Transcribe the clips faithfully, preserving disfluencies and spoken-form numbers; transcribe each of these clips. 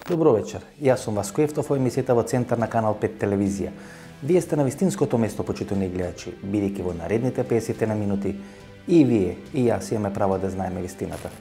Добро вечер. Јас сум Васко Ефтов во емисијата во Центар на Канал пет телевизија. Вие сте на вистинското место, почитувани гледачи, бидејќи во наредните песет на минути и вие и јас имаме право да знаеме вистината.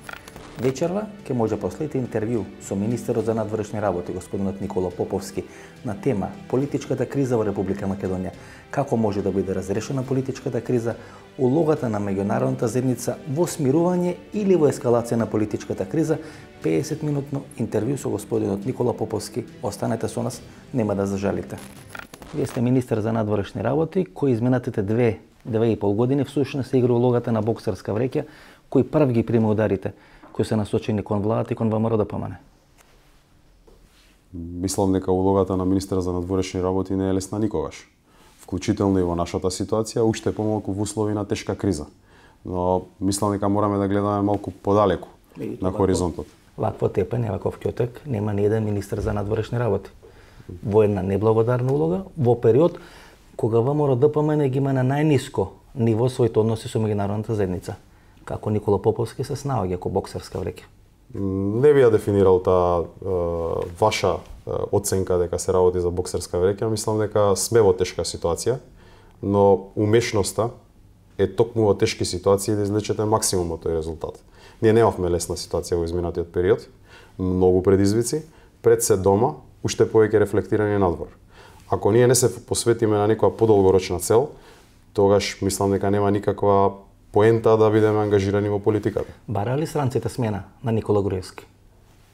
Вечерва ќе може последите интервју со министерот за надворешни работи, господинот Никола Поповски, на тема политичката криза во Република Македонија, како може да биде разрешена политичката криза, улогата на меѓународната заедница во смирување или во ескалација на политичката криза, песет минутно интервју со господинот Никола Поповски. Останете со нас, нема да зажалите. Вие сте министер за надворешни работи, кои изминатите две, две и пол години всушност се игра улогата на боксерска вреќа, кој прв ги прима ударите, кои се насочени кон владата и кон ВМРО-ДПМН. Мислам дека улогата на министер за надворешни работи не е лесна никогаш. Вклучително и во нашата ситуација, уште помалку во услови на тешка криза. Но мислам дека мораме да гледаме малку подалеку на хоризонтот. Вакво тепење, ваков ќотек, нема ни еден министер за надворешни работи. Во една неблагодарна улога, во период кога ВМРО-ДПМН ги има на најниско ниво своите односи со меѓународната заедница. Како Никола Поповски се снаоѓа ко боксерска вреќа? Не би ја дефинирал таа е, ваша е, оценка дека се работи за боксерска вреќа. Мислам дека сме во тешка ситуација, но умешноста е токму во тешки ситуации да извлечете максимум од тој резултат. Ние немавме лесна ситуација во изминатиот период, многу предизвици, пред се дома, уште повеќе рефлектирање надвор. Ако ние не се посветиме на некоја подолгорочна цел, тогаш мислам дека нема никаква поента да бидеме ангажирани во политиката. Бара ли странците смена на Никола Груевски?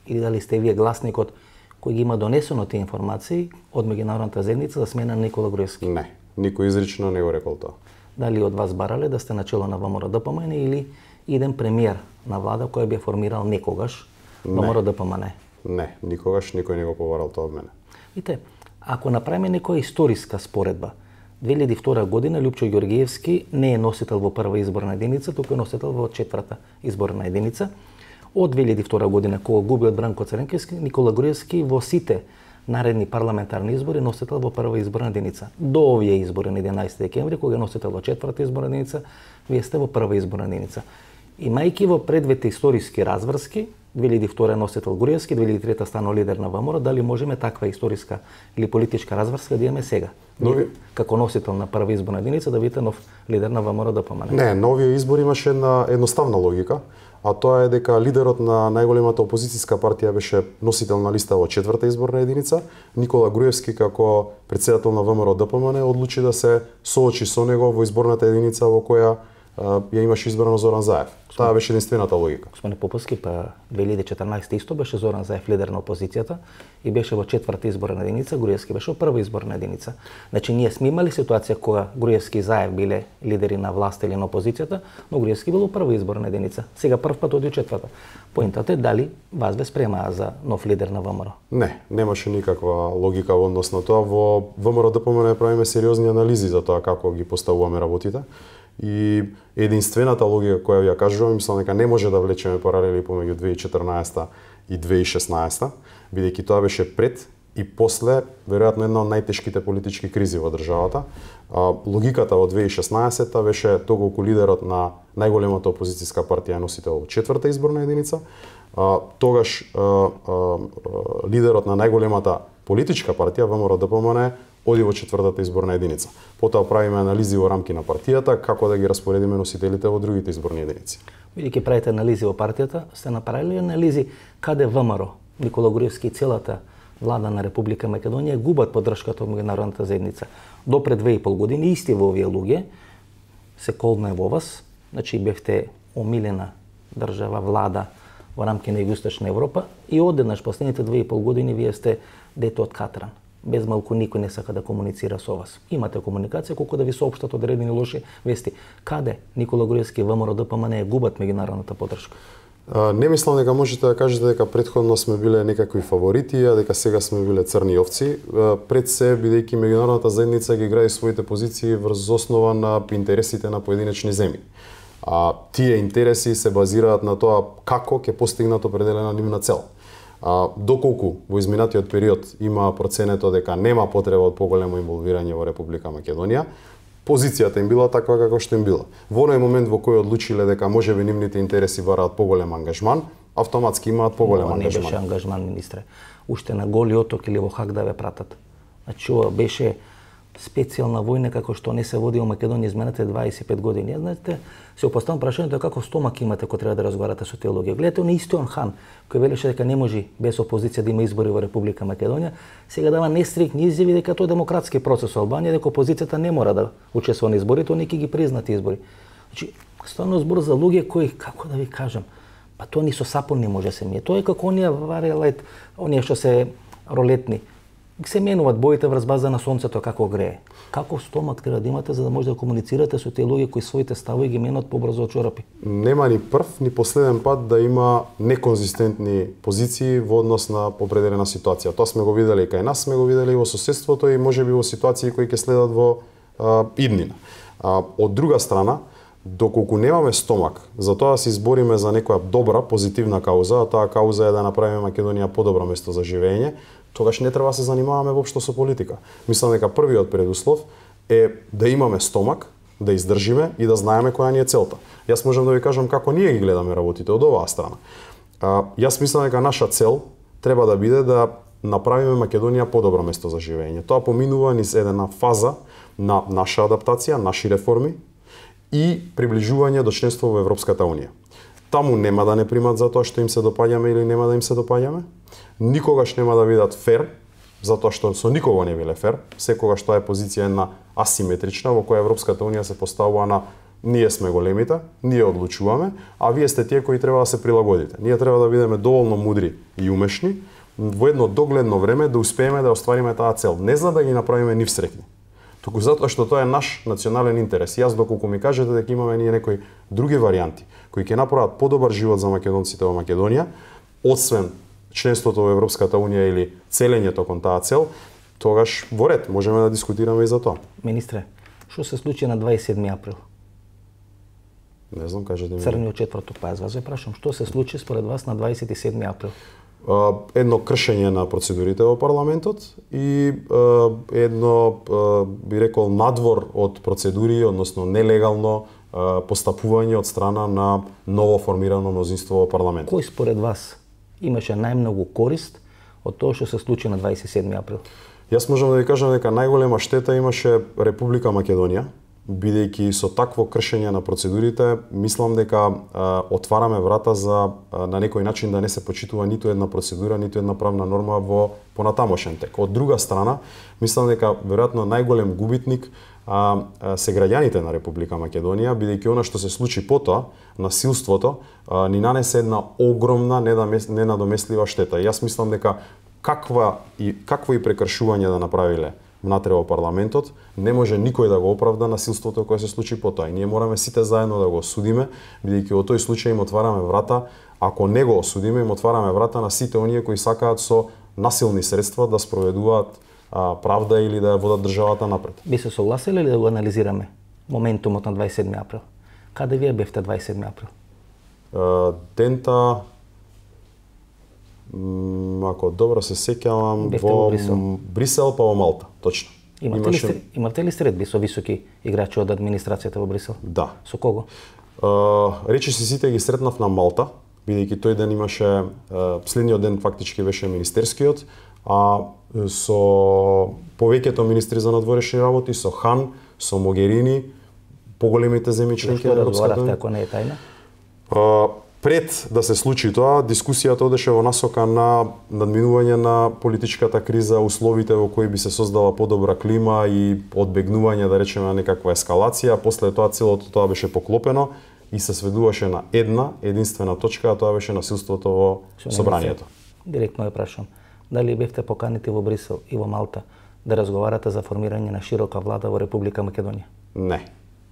Или дали сте вие гласникот кој ги има донесено тие информации од меѓународната заедница за смена на Никола Груевски? Не, никој изрично не го рекол тоа. Дали од вас барале да сте начело на ВМРО-ДПМН или иден премиер на влада која би формирал некогаш ВМРО-ДПМН? Не, никогаш никој не го побарал тоа од мене. Ите, ако направиме некоја историска споредба, две илјади и втора година Лјупчо Ѓоргиевски не е носител во прва изборна единица, туку е носител во четврта изборна единица. Од две илјади и втора година, кога губи од Бранко Црнкевски, Никола Груевски во сите наредни парламентарни избори носител во прва изборна единица. До овие избори на единаесети декември, кога е носител во четврта изборна единица, вие сте во прва изборна единица. Имајќи во пред двете историски разврски, две илјади и втора носител Груевски, две илјади и трета станал лидер на ВМРО, дали можеме таква историска или политичка разврска да имаме сега? Нови... Како носител на прва изборна единица да бидете нов лидер на ВМРО-ДПМН? Не, на овие избори имаше една едноставна логика, а тоа е дека лидерот на најголемата опозицијска партија беше носител на листа во четврта изборна единица. Никола Груевски како претседател на ВМРО-ДПМН одлучи да се соочи со него во изборната единица во која ја имаше избрано Зоран Заев. Таа беше единствената логика. Господине Поповски, па две илјади и четрнаесета исто беше Зоран Заев лидер на опозицијата и беше во четврта изборна единица, Груевски беше во прва изборна единица. Значи ние сме имали ситуација кога Груевски и Заев биле лидери на власта или на опозицијата, но Груевски бил во прва изборна единица. Сега прв пат оди во четврта. Поентата е дали вас ве спремаа за нов лидер на ВМРО? Не, немаше никаква логика во однос на тоа. Во ВМРО-ДПМН правиме сериозни анализи за тоа како ги поставуваме работите. И единствената логика која ја кажувам, мислам дека не може да влечеме паралели помеѓу две илјади и четрнаесета и две илјади и шеснаесета, бидејќи тоа беше пред и после, веројатно, една од најтешките политички кризи во државата. А, логиката во две илјади и шеснаесета беше доколку лидерот на најголемата опозицијска партија е носител во четврта изборна единица, а, тогаш а, а, лидерот на најголемата политичка партија ВМРО-ДПМН оди во четвртата изборна единица. Потоа правиме анализи во рамки на партијата, како да ги распоредиме носителите во другите изборни единици. Бидејќи правите анализи во партијата, сте направили анализи каде ВМРО, Никола Груевски и целата влада на Република Македонија губат поддршката од меѓународната заедница. До пред две и пол години исти во овие луѓе се колна во вас, значи бевте омилена држава, влада во рамки на Југоисточна Европа и одеднаш последните две и пол години вие сте дете од Катран. Без малку никој не сака да комуницира со вас. Имате комуникација колку да ви соопштат одредени лоши вести. Каде Никола Груевски и ВМРО-ДПМН губат меѓународната поддршка? А, не мислам дека можете да кажете дека претходно сме биле некакви фаворити, а дека сега сме биле црни овци. А, пред се, бидејќи меѓународната заедница ги гради своите позиции врз основа на интересите на поединечни земји. А тие интереси се базираат на тоа како ќе постигнат определена нивна цел. А, доколку во изминатиот период има проценето дека нема потреба од поголемо инволвирање во Република Македонија, позицијата им била таква како што им била. Во оној момент во кој одлучиле дека можеби нивните интереси бараат поголем ангажман, автоматски имаат поголем ангажман. Не беше ангажман, министре. Уште на Голи оток или во Хаг да ве пратат. Значи, ова беше специјална војна како што не се води во Македонија изминатите дваесет и пет години. Знаете, се опоставам прашањето е како стомак имате кога треба да разговарате со теологија. Гледате, он истиот хан кој велеше дека не може без опозиција да има избори во Република Македонија, сега дава нестрикни изјави дека тоа е демократски процес во Албанија, дека опозицијата не мора да учествува на изборите, они ќе ги признати избори. Значи, стварно збор за луѓе кои, како да ви кажам, па тоа ни со сапун не може се мие. Тоа е како оние варелет, оние што се ролетни. Се менуваат боите врз база на сонцето како грее. Како стомак треба да имате за да може да комуницирате со тие луѓе кои своите ставови ги менуваат побрзо од чорапи? Нема ни прв ни последен пат да има неконзистентни позиции во однос на определена ситуација. Тоа сме го виделе и кај нас, сме го виделе и во соседството и можеби во ситуации кои ќе следат во а, иднина. А, од друга страна, доколку немаме стомак за тоа да се избориме за некоја добра, позитивна кауза, а таа кауза е да направиме Македонија подобро место за живење, тогаш не треба да се занимаваме воопшто со политика. Мислам дека првиот предуслов е да имаме стомак, да издржиме и да знаеме која ни е целта. Јас можам да ви кажам како ние ги гледаме работите од оваа страна. А, јас мислам дека наша цел треба да биде да направиме Македонија подобро место за живење. Тоа поминува низ една фаза на наша адаптација, наши реформи и приближување до членство во Европската унија. Таму нема да не примат за тоа што им се допаѓаме или нема да им се допаѓаме. Никогаш нема да видат фер, затоа што со никого не биле фер. Секогаш тоа е позиција една асиметрична во која Европската унија се поставува на ние сме големите, ние одлучуваме, а вие сте тие кои треба да се прилагодите. Ние треба да бидеме доволно мудри и умешни во едно догледно време да успееме да оствариме таа цел. Не за да ги направиме нив среќни, туку затоа што тоа е наш национален интерес. Јас доколку ми кажете дека имаме ние некои други варијанти кои ќе направат подобар живот за македонците во Македонија, освен членството во Европската унија или целењето кон таа цел, тогаш во ред можеме да дискутираме и за тоа. Министре, што се случи на дваесет и седми април? Не знам, кажете ми. Црниот четврток, па јас вас ве прашам, што се случи според вас на дваесет и седми април? Едно кршење на процедурите во парламентот и едно, би рекол, надвор од процедури, односно нелегално постапување од страна на ново формирано мнозинство во парламентот. Кој според вас имаше најмногу корист од тоа што се случи на дваесет и седми април? Јас можам да ви кажам дека најголема штета имаше Република Македонија, бидејќи со такво кршење на процедурите, мислам дека а, отвараме врата за а, на некој начин да не се почитува ниту една процедура, ниту една правна норма во понатамошен тек. Од друга страна, мислам дека веројатно најголем губитник а, а, се граѓаните на Република Македонија, бидејќи она што се случи потоа, насилството, а, ни нанесе една огромна, ненадомеслива штета. Јас мислам дека каква и какво и прекршување да направиле внатре во парламентот, не може никој да го оправда насилството кое се случи потоа. И ние мораме сите заедно да го осудиме, бидејќи во тој случај им отвараме врата, ако не го осудиме, им отвараме врата на сите оние кои сакаат со насилни средства да спроведуваат а, правда или да водат државата напред. Би се согласили ли да го анализираме моментумот на дваесет и седми април? Каде вие бевте дваесет и седми април? А, дента, ако добро се сеќавам, во, во Брисел. Брисел па во Малта, точно. Имате, Имаше... ли, имате ли средби со високи играчи од администрацијата во Брисел? Да. Со кого? Uh, речи се сите ги сретнав на Малта, бидејќи тој ден имаше, uh, следниот ден фактички беше министерскиот, а со повеќето министри за надворешни работи, со Хан, со Могерини, поголемите земји членки на Европската унија. Ако не е тајна? Uh, Пред да се случи тоа, дискусијата одеше во насока на надминување на политичката криза, условите во кои би се создала подобра клима и одбегнување, да речеме, на некаква ескалација. После тоа целото тоа беше поклопено и се сведуваше на една единствена точка, а тоа беше насилството во собранието. Директно ја прашам, дали бевте поканети во Брисел и во Малта да разговарате за формирање на широка влада во Република Македонија? Не,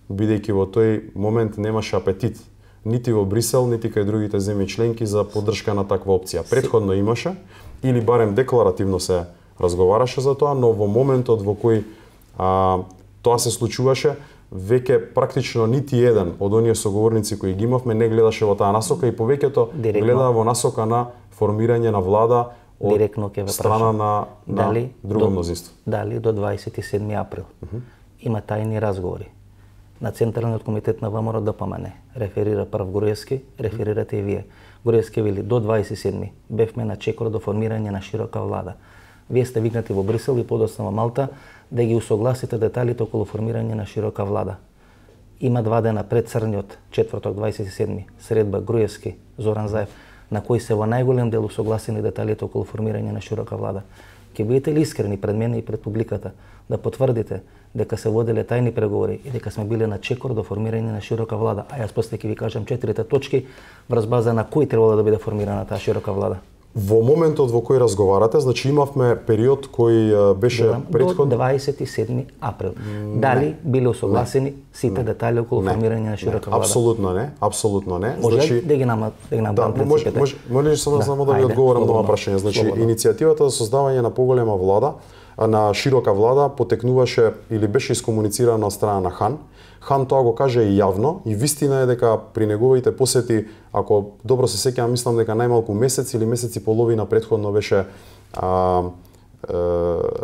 бидејќи во тој момент немаше апетит нити во Брисел, нити кај другите земји членки за поддршка на таква опција. Претходно имаше, или барем декларативно се разговараше за тоа, но во моментот во кој а, тоа се случуваше, веќе практично нити еден од оние соговорници кои ги имавме не гледаше во таа насока и повеќето гледа во насока на формирање на влада од директно ќе ве страна на, на дали, друго до, мнозинство. Дали до дваесет и седми април uh -huh. има тајни разговори на Централниот комитет на ВМРО ДПМН, реферира прв Груевски, реферирате и вие. Груевски вели до дваесет и седми бевме на чекор до формирање на широка влада. Вие сте викнати во Брисел и подоцна во Малта да ги усогласите деталите околу формирање на широка влада. Има два дена пред црниот четврток дваесет и седми средба Груевски Зоран Заев, на кој се во најголем дел усогласени деталите околу формирање на широка влада. Ќе бидете ли искрени пред мене и пред публиката да потврдите дека се воделе тајни преговори и дека сме биле на чекор до формирање на широка влада, а јас после ќе ви кажам четирите точки врз база на кој требало да биде формирана таа широка влада. Во моментот во кој разговарате, значи имавме период кој беше претходно до дваесет и седми април. Дали биле усогласени сите детали околу не. формирање на широка влада? Апсолутно не, апсолутно не. Може значи да ги нама да ги набам да, може, може, може ли само да, само да ви одговорам на ова прашање? Значи слободно. Иницијативата за создавање на поголема влада, на широка влада потекнуваше или беше искомуницирана од страна на Хан. Хан тоа го каже и јавно и вистина е дека при неговите посети, ако добро се сеќавам, мислам дека најмалку месец или месец и половина претходно беше а, е,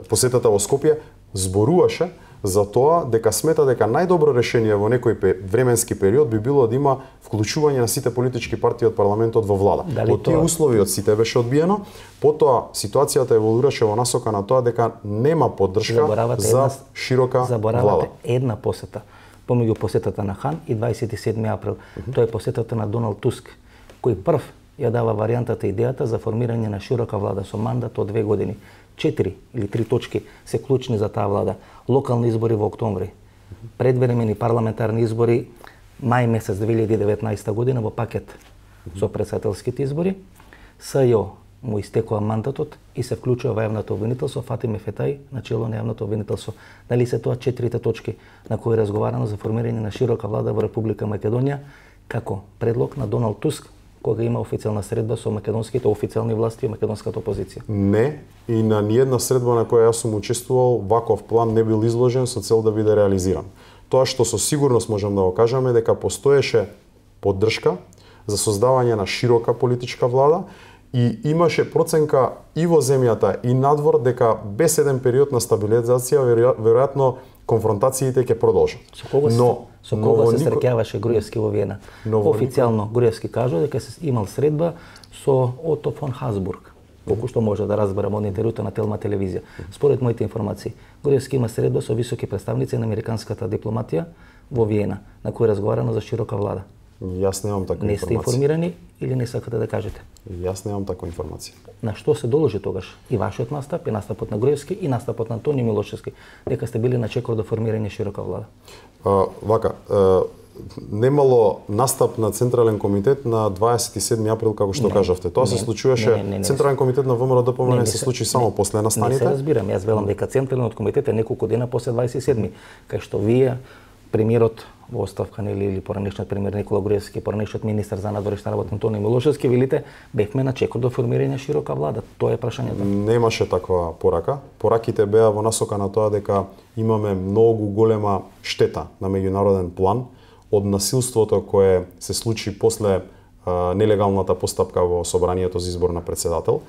посетата во Скопје, зборуваше за тоа дека смета дека најдобро решение во некој временски период би било да има вклучување на сите политички партии од парламентот во влада. Од тие услови од сите беше одбиено, потоа ситуацијата еволуираше во насока на тоа дека нема поддршка заборавате за една, широка заборавате влада. Една посета помеѓу посетата на Хан и дваесет и седми април. Uh-huh. Тоа е посетата на Доналд Туск, кој прв ја дава варијантата и идејата за формирање на широка влада со мандат од две години. Четири или три точки се клучни за таа влада. Локални избори во октомври, uh-huh. предвремени парламентарни избори мај месец две илјади и деветнаесета година во пакет uh-huh. со претседателските избори. СЈО му истекува мандатот и се вклучува во јавното обвинителство, Фатиме Фетај на чело на јавното обвинителство. Дали се тоа четирите точки на кои е разговарано за формирање на широка влада во Република Македонија како предлог на Доналд Туск кога има официјална средба со македонските официјални власти и македонската опозиција? Не, и на ниедна средба на која јас сум учествувал, ваков план не бил изложен со цел да биде реализиран. Тоа што со сигурност можам да го кажам е дека постоеше поддршка за создавање на широка политичка влада и имаше проценка и во земјата и надвор дека без еден период на стабилизација веројатно конфронтациите ќе продолжат. Со кого но, се, со кого се нико... среќаваше Груевски во Виена? Официјално нико... Груевски кажува дека се имал средба со Ото фон Хасбург. Колку што може да разберам од интервјута на Телма телевизија. Според моите информации, Груевски има средба со високи представници на американската дипломатија во Виена, на кој разговарано за широка влада. Јас немам таква информација. Не сте информирани или не сакате да кажете? Јас немам таква информација. На што се доложи тогаш и вашиот настап, и настапот на Груевски, и настапот на Антони Милошевски, дека сте били на чекор до формирање широка влада? А, вака, а, немало настап на Централен комитет на дваесет и седми април, како што не, кажавте. Тоа не, се случуваше, не, не, не, Централен комитет на ВМРО ДПМН се случи само не, после настаните. Не се разбирам, јас велам дека Централниот комитет е неколку дена после дваесет и седми, кај што вие, премиерот во оставка нели или поранешниот премиер Никола Груевски, поранешниот министар за надворешна работа Антони Милошевски, велите бевме на чекор до формирање широка влада. Тоа е прашањето. Немаше таква порака. Пораките беа во насока на тоа дека имаме многу голема штета на меѓународен план од насилството кое се случи после а, нелегалната постапка во собранието за избор на претседател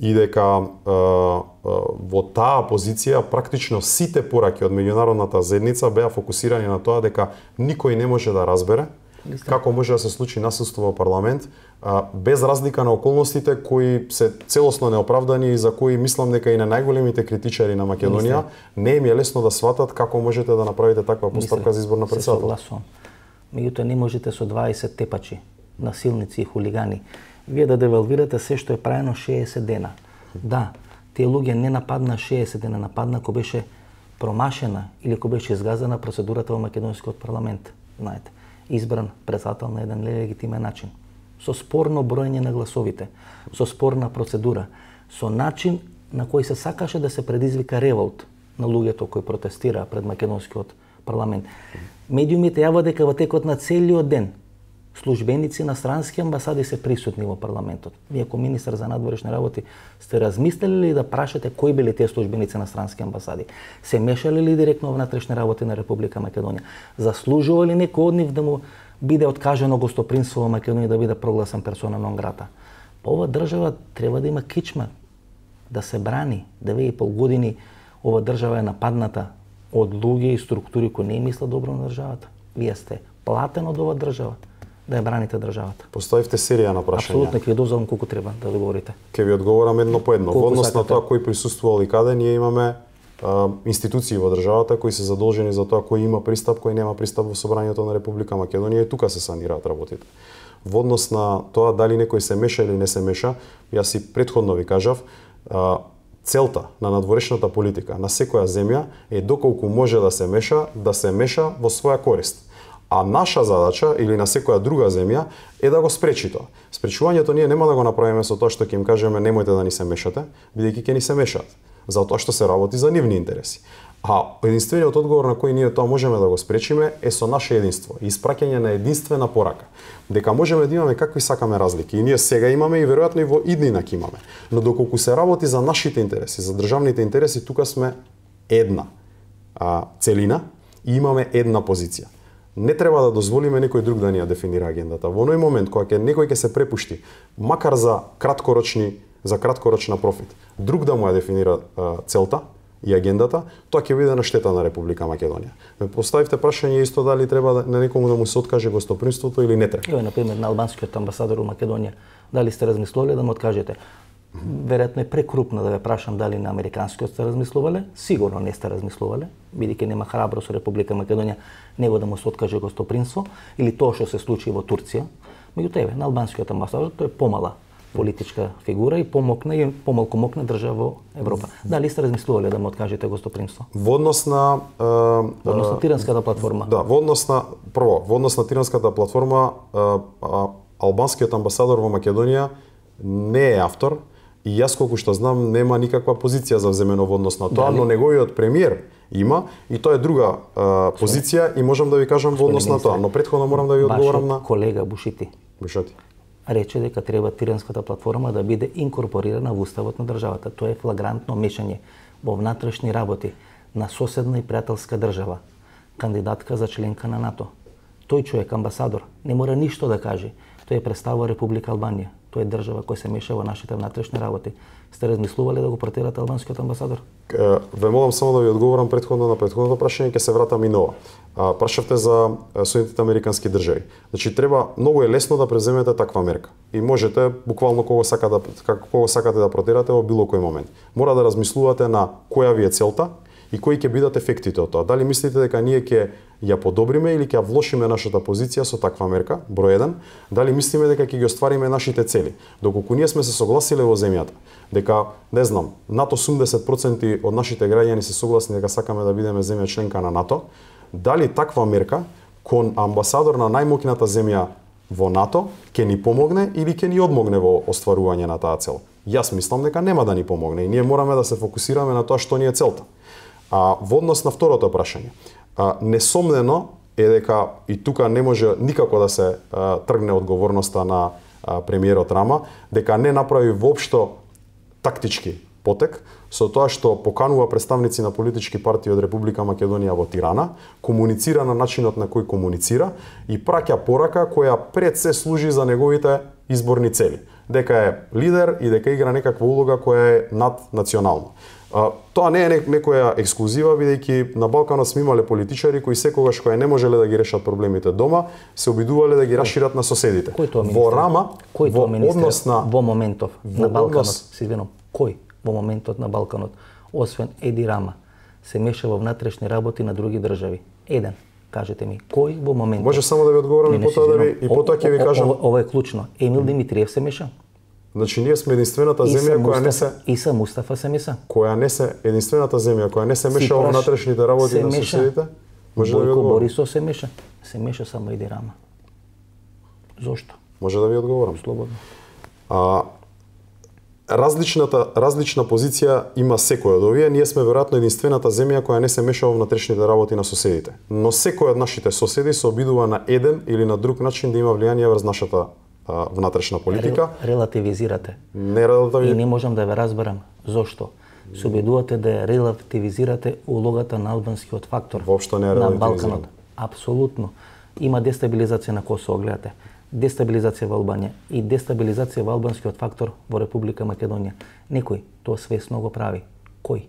и дека а, а, во таа позиција практично сите пораки од меѓународната заедница беа фокусирани на тоа дека никој не може да разбере Листа. како може да се случи насилство во парламент а, без разлика на околностите кои се целосно неоправдани и за кои мислам дека и на најголемите критичари на Македонија Листа. не им е лесно да сватат како можете да направите таква постапка Листа. за избор на претседател. Меѓутоа не можете со дваесет тепачи, насилници и хулигани вие да девалвирате се што е правено шеесет дена. Да, тие луѓе не нападна шеесет дена, нападна кога беше промашена или кога беше изгазена процедурата во македонскиот парламент. Знаете, избран претседател на еден нелегитимен начин, со спорно броење на гласовите, со спорна процедура, со начин на кој се сакаше да се предизвика револт на луѓето кои протестираа пред македонскиот парламент. Медиумите јавува дека во текот на целиот ден службеници на странски амбасади се присутни во парламентот. Вие како министар за надворешни работи сте размислили ли да прашате кои биле тие службеници на странски амбасади? Се мешали ли директно во внатрешни работи на Република Македонија? Заслужува ли некој од нив да му биде откажено гостопринство во Македонија, да биде прогласен персона нон грата? Ова држава треба да има кичма, да се брани. Две и пол години ова држава е нападната од луѓе и структури кои не мислат добро на државата. Вие сте платен од оваа држава да ја браните државата. Поставивте серија на прашања. Апсолутно, ќе ви дозволам колку треба да одговорите. Ќе ви одговорам едно по едно. Во однос на тоа кој присуствувал и каде, ние имаме а, институции во државата кои се задолжени за тоа кој има пристап, кој нема пристап во собранието на Република Македонија и тука се санираат работите. Во однос на тоа дали некој се меша или не се меша, јас и претходно ви кажав, а, целта на надворешната политика на секоја земја е доколку може да се меша, да се меша во своја корист. А наша задача или на секоја друга земја е да го спречи тоа. Спречувањето ние нема да го направиме со тоа што ќе им кажеме немојте да ни се мешате, бидејќи ќе ни се мешаат, затоа што се работи за нивни интереси. А единствениот одговор на кој ние тоа можеме да го спречиме е со наше единство и испраќање на единствена порака. Дека можеме да имаме какви сакаме разлики и ние сега имаме и веројатно и во иднина ќе имаме. Но доколку се работи за нашите интереси, за државните интереси, тука сме една а, целина и имаме една позиција. Не треба да дозволиме некој друг да ни ја дефинира агендата. Во оној момент кога ќе некој ќе се препушти, макар за краткорочни за краткорочна профит, друг да му ја дефинира а, целта и агендата, тоа ќе биде на штета на Република Македонија. Ме поставивте прашање исто дали треба да, на некому да му се откаже гостопримството или не треба. Еве, например, на албанскиот амбасадор во Македонија, дали сте размислувале да му откажете? Веројатно е прекрупно да ве прашам дали на американскиот сте размислувале, сигурно не сте размислувале, бидејќи нема храброст во Република Македонија него да му се откаже гостопримство или тоа што се случи во Турција. Меѓутоа, еве, на албанскиот амбасадор тој е помала политичка фигура и помокна и помалку мокна држава во Европа. Дали сте размислувале да му откажете гостопримство? Во однос на е, во однос на Тиранската платформа. Да, во однос на прво, во однос на Тиранската платформа, е, а, албанскиот амбасадор во Македонија не е автор и јас колку што знам нема никаква позиција за вземено во однос на тоа, дали? Но неговиот премиер има и тоа е друга е, позиција и можам да ви кажам во однос на тоа, но претходно морам да ви одговорам на колега Бушити. Бушати рече дека треба Тиранската платформа да биде инкорпорирана во уставот на државата. Тоа е флагрантно мешање во внатрешни работи на соседна и пријателска држава, кандидатка за членка на НАТО. Тој човек, амбасадор, не мора ништо да каже. Тој е представува Република Албанија. Тоа е држава која се меша во нашите внатрешни работи. Сте размислувале да го протерате албанскиот амбасадор? Ве молам само да ви одговорам претходно на претходното прашање, ќе се вратам и нова. Прашавте за Соединетите американски држави. Значи треба многу е лесно да преземете таква мерка. И можете буквално кого сака да кого сакате да протерате во било кој момент. Мора да размислувате на која ви е целта и кои ќе бидат ефектите од тоа. Дали мислите дека ние ќе ја подобриме или ќе ја влошиме нашата позиција со таква мерка, број еден, дали мислиме дека ќе ги оствариме нашите цели. Доколку ние сме се согласиле во земјата дека, не знам, над осумдесет проценти од нашите граѓани се согласни дека сакаме да бидеме земја членка на НАТО, дали таква мерка кон амбасадор на најмоќната земја во НАТО ќе ни помогне или ќе ни одмогне во остварување на таа цел? Јас мислам дека нема да ни помогне и ние мораме да се фокусираме на тоа што ни е целта. А во однос на второто прашање, а, несомнено е дека и тука не може никако да се а, тргне одговорноста на а, премиерот Рама, дека не направи воопшто тактички потек со тоа што поканува представници на политички партии од Република Македонија во Тирана, комуницира на начинот на кој комуницира и праќа порака која пред се служи за неговите изборни цели. Дека е лидер и дека игра некаква улога која е наднационална. А, тоа не е некоја ексклузива, бидејќи на Балканот сме имале политичари кои секогаш кога не можеле да ги решат проблемите дома, се обидувале да ги рашират на соседите. Кој тоа во Рама, кој во однос на во моментов во на Балканот, однос... се извинувам, кој во моментот на Балканот, освен Еди Рама, се меша во внатрешни работи на други држави? Еден. Кажете ми, кој во моментот? Може само да ви одговорам и потоа да ви и потоа ќе ви кажам. Ова, ова е клучно. Емил Димитриев се меша. Значи ние сме единствената земја која не се Иса Мустафа се меша. Која не се единствената земја која не се меша во внатрешните работи на соседите. Може да ви одговорам. Борисов се меша. Се меша само Еди Рама. Зошто? Може да ви одговорам. Слободно. А, различната различна позиција има секој од овие. Ние сме веројатно единствената земја која не се меша во внатрешните работи на соседите. Но секој од нашите соседи се обидува на еден или на друг начин да има влијание врз нашата а, внатрешна политика. Релативизирате. Не релативи... И не можам да ве разберам зошто. Се обидувате да релативизирате улогата на албанскиот фактор Воопшто не е на Балканот. Апсолутно. Има дестабилизација на Косово, гледате. Дестабилизација во Албанија и дестабилизација во албанскиот фактор во Република Македонија. Некој тоа свесно го прави. Кој?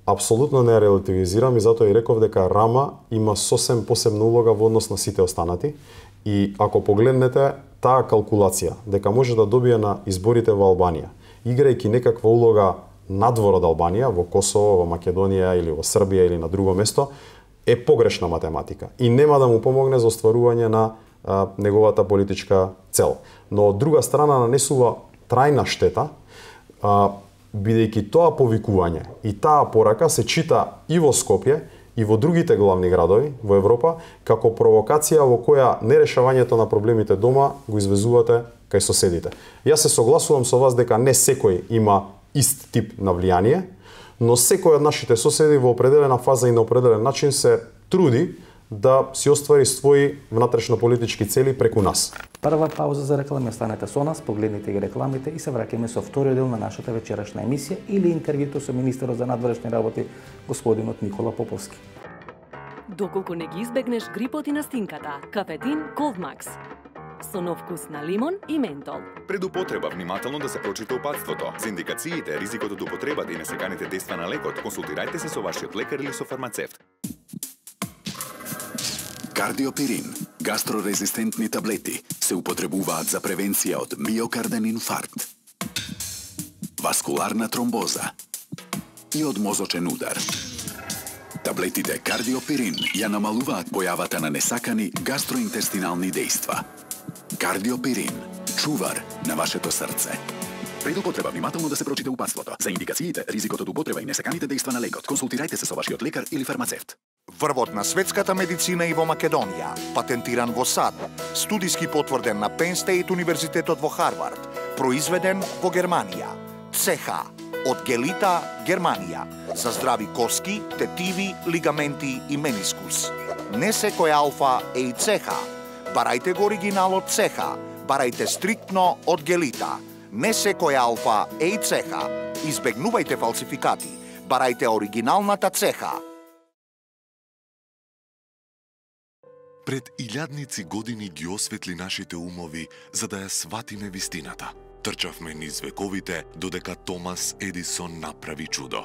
апсолутно не ја релативизирам и затоа и реков дека Рама има сосем посебна улога во однос на сите останати. И ако погледнете таа калкулација дека може да добие на изборите во Албанија, играјќи некаква улога надвор од Албанија, во Косово, во Македонија или во Србија или на друго место, е погрешна математика и нема да му помогне за остварување на а, неговата политичка цел. Но од друга страна нанесува трајна штета, а, бидејќи тоа повикување и таа порака се чита и во Скопје и во другите главни градови во Европа како провокација во која нерешавањето на проблемите дома го извезувате кај соседите. Јас се согласувам со вас дека не секој има ист тип на влијание, но секој од нашите соседи во определена фаза и на определен начин се труди да си оствари своји внатрешно-политички цели преку нас. Прва пауза за реклами, останете со нас, погледнете ги рекламите и се враќаме со вториот дел на нашата вечерашна емисија или интервјуто со министерот за надворешни работи, господинот Никола Поповски. Доколку не ги избегнеш грипот и настинката, кафетин Колдмакс. Со нов вкус на лимон и ментол. Пред употреба внимателно да се прочита упатството. За индикациите, ризикот од употребата и несеканите дејства на лекот, консултирајте се со вашиот лекар или со фармацевт. Кардиопирин, гастрорезистентни таблети, се употребуваат за превенција од миокарден инфаркт, васкуларна тромбоза и од мозочен удар. Таблетите Кардиопирин ја намалуваат појавата на несакани гастроинтестинални дејства. Кардиопирин, чувар на вашето срце. Пред употреба внимателно да се прочита упатството. За индикациите, ризикот од употреба и несаканите дејства на лекот, консултирајте се со вашиот лекар или фармацевт. Врвот на светската медицина и во Македонија, патентиран во САД, студиски потврден на Penn State Универзитетот во Харвард, произведен во Германија. ЦЕХ од Гелита, Германија, за здрави коски, тетиви, лигаменти и менискус. Не секој алфа е и ЦЕХ. Барајте го оригиналот ЦЕХ, барајте стриктно од Гелита. Не секој алфа е и ЦЕХ. Избегнувајте фалсификати. Барајте оригиналната ЦЕХ. Пред илјадници години ги осветли нашите умови за да ја сватиме вистината. Трчавме низ вековите додека Томас Едисон направи чудо.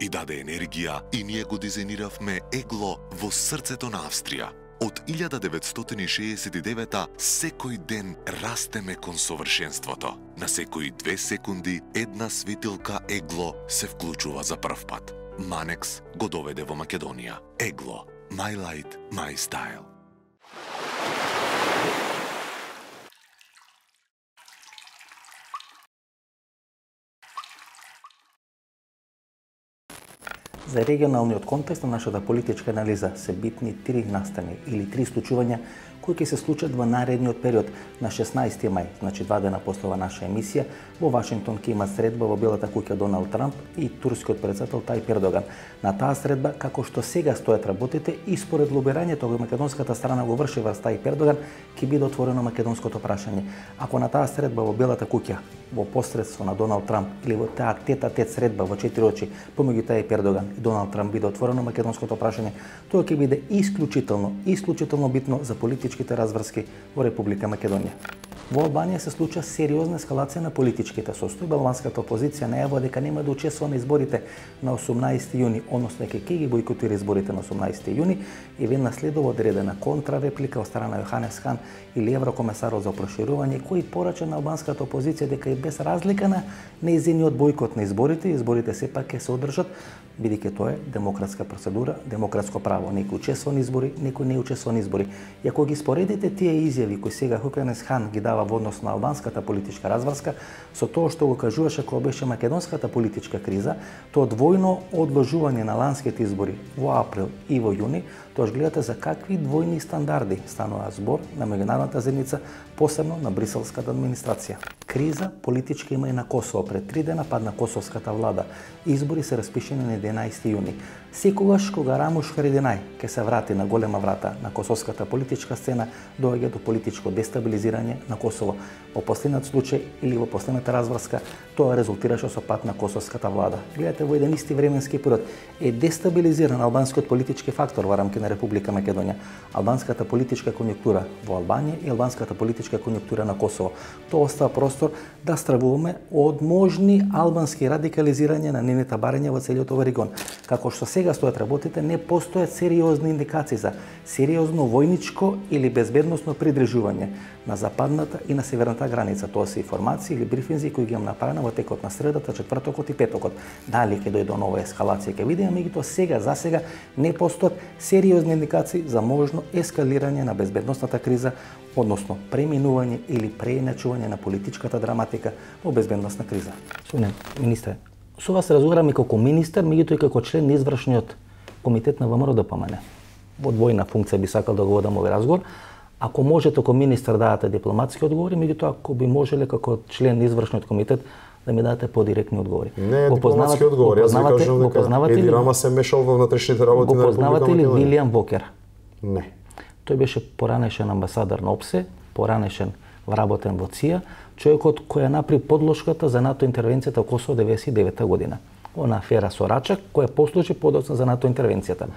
И даде енергија и ние го дизајниравме егло во срцето на Австрија. Од илјада деветстотини шеесет и девета секој ден растеме кон совршенството. На секои две секунди една светилка егло се вклучува за прв пат. Манекс го доведе во Македонија. Егло. My light, my style. За регионалниот контекст на нашата политичка анализа се битни три настани или три случувања кои ќе се случат во наредниот период. На шеснаести мај, значи два дена после наша емисија, во Вашингтон ќе има средба во Белата куќа Доналд Трамп и турскиот председател Тајип Ердоган. На таа средба, како што сега стојат работите и според лобирањето кој македонската страна го врши врз Тајип Ердоган, ќе биде отворено македонското прашање. Ако на таа средба во Белата куќа, во посредство на Доналд Трамп или во таа тет-а-тет средба во четири очи помеѓу Тајип Ердоган и Доналд Трамп биде отворено македонското прашање, тоа ќе биде исклучително, исклучително битно за политичките разврски во Република Македонија. Во Албанија се случа сериозна ескалација на политичките состојби. Албанската опозиција најавува дека нема да учествува на изборите на осумнаесети јуни, односно дека ќе ги бојкотира изборите на осумнаесети јуни и веднаш следува одредена контрареплика од страна на Јоханес Хан или еврокомесарот за проширување, кој порача на албанската опозиција дека и без разлика на нејзиниот бојкот на изборите, изборите сепак ќе се одржат, бидејќи тоа е демократска процедура, демократско право. Некој учествува на избори, некој не учествува на избори. И ако ги споредите тие изјави кои сега Јоханес Хан ги дава во однос на албанската политичка разврска со тоа што го кажуваше кога беше македонската политичка криза, тоа двојно одложување на ланските избори во април и во јуни, тоа гледате за какви двојни стандарди станува збор на меѓународната заедница, посебно на бриселската администрација. Криза политичка има и на Косово. Пред три дена падна косовската влада. Избори се распишени на единаесети јуни. Секогаш кога Рамуш Харединај ќе се врати на голема врата на косовската политичка сцена, доаѓа до политичко дестабилизирање на Косово. Во последниот случај или во последната разврска, тоа резултираше со пат на косовската влада. Гледате, во еден исти временски период е дестабилизиран албанскиот политички фактор во рамки на Република Македонија. Албанската политичка конјунктура во Албанија и албанската политичка политичка конјунктура на Косово. Тоа остава простор да стравуваме од можни албански радикализирање на нивните барања во целиот овој регион. Како што сега стојат работите, не постојат сериозни индикации за сериозно војничко или безбедносно придржување на западната и на северната граница. Тоа се информации или брифинзи кои ги имам направена во текот на средата, четвртокот и петокот. Дали ќе дојде до нова ескалација, ќе видиме, меѓутоа сега за сега не постојат сериозни индикации за можно ескалирање на безбедносната криза, односно преминување или преиначување на политичката драматика во безбедносна криза. Суне, министре, со вас разговараме како министер, меѓутоа и како член на извршниот комитет на ВМРО ДПМН. Во двојна функција би сакал да го водам овој разговор. Ако можете како министер да дадете дипломатски одговори, меѓутоа ако би можеле како член на извршниот комитет да ми дадете подиректни одговори. Не, дипломатски одговори. Јас ви кажам дека Еди Рама се мешал во внатрешните работи на Република Македонија. Го познавате ли Вилијам Вокер? Не. Тој беше поранешен амбасадор на ОПСЕ, поранешен вработен во ЦИА, човекот кој ја направи подложката за НАТО интервенцијата во Косово деветдесет и девета година. Она афера со Рачак, која послужи подоцна за НАТО интервенцијата.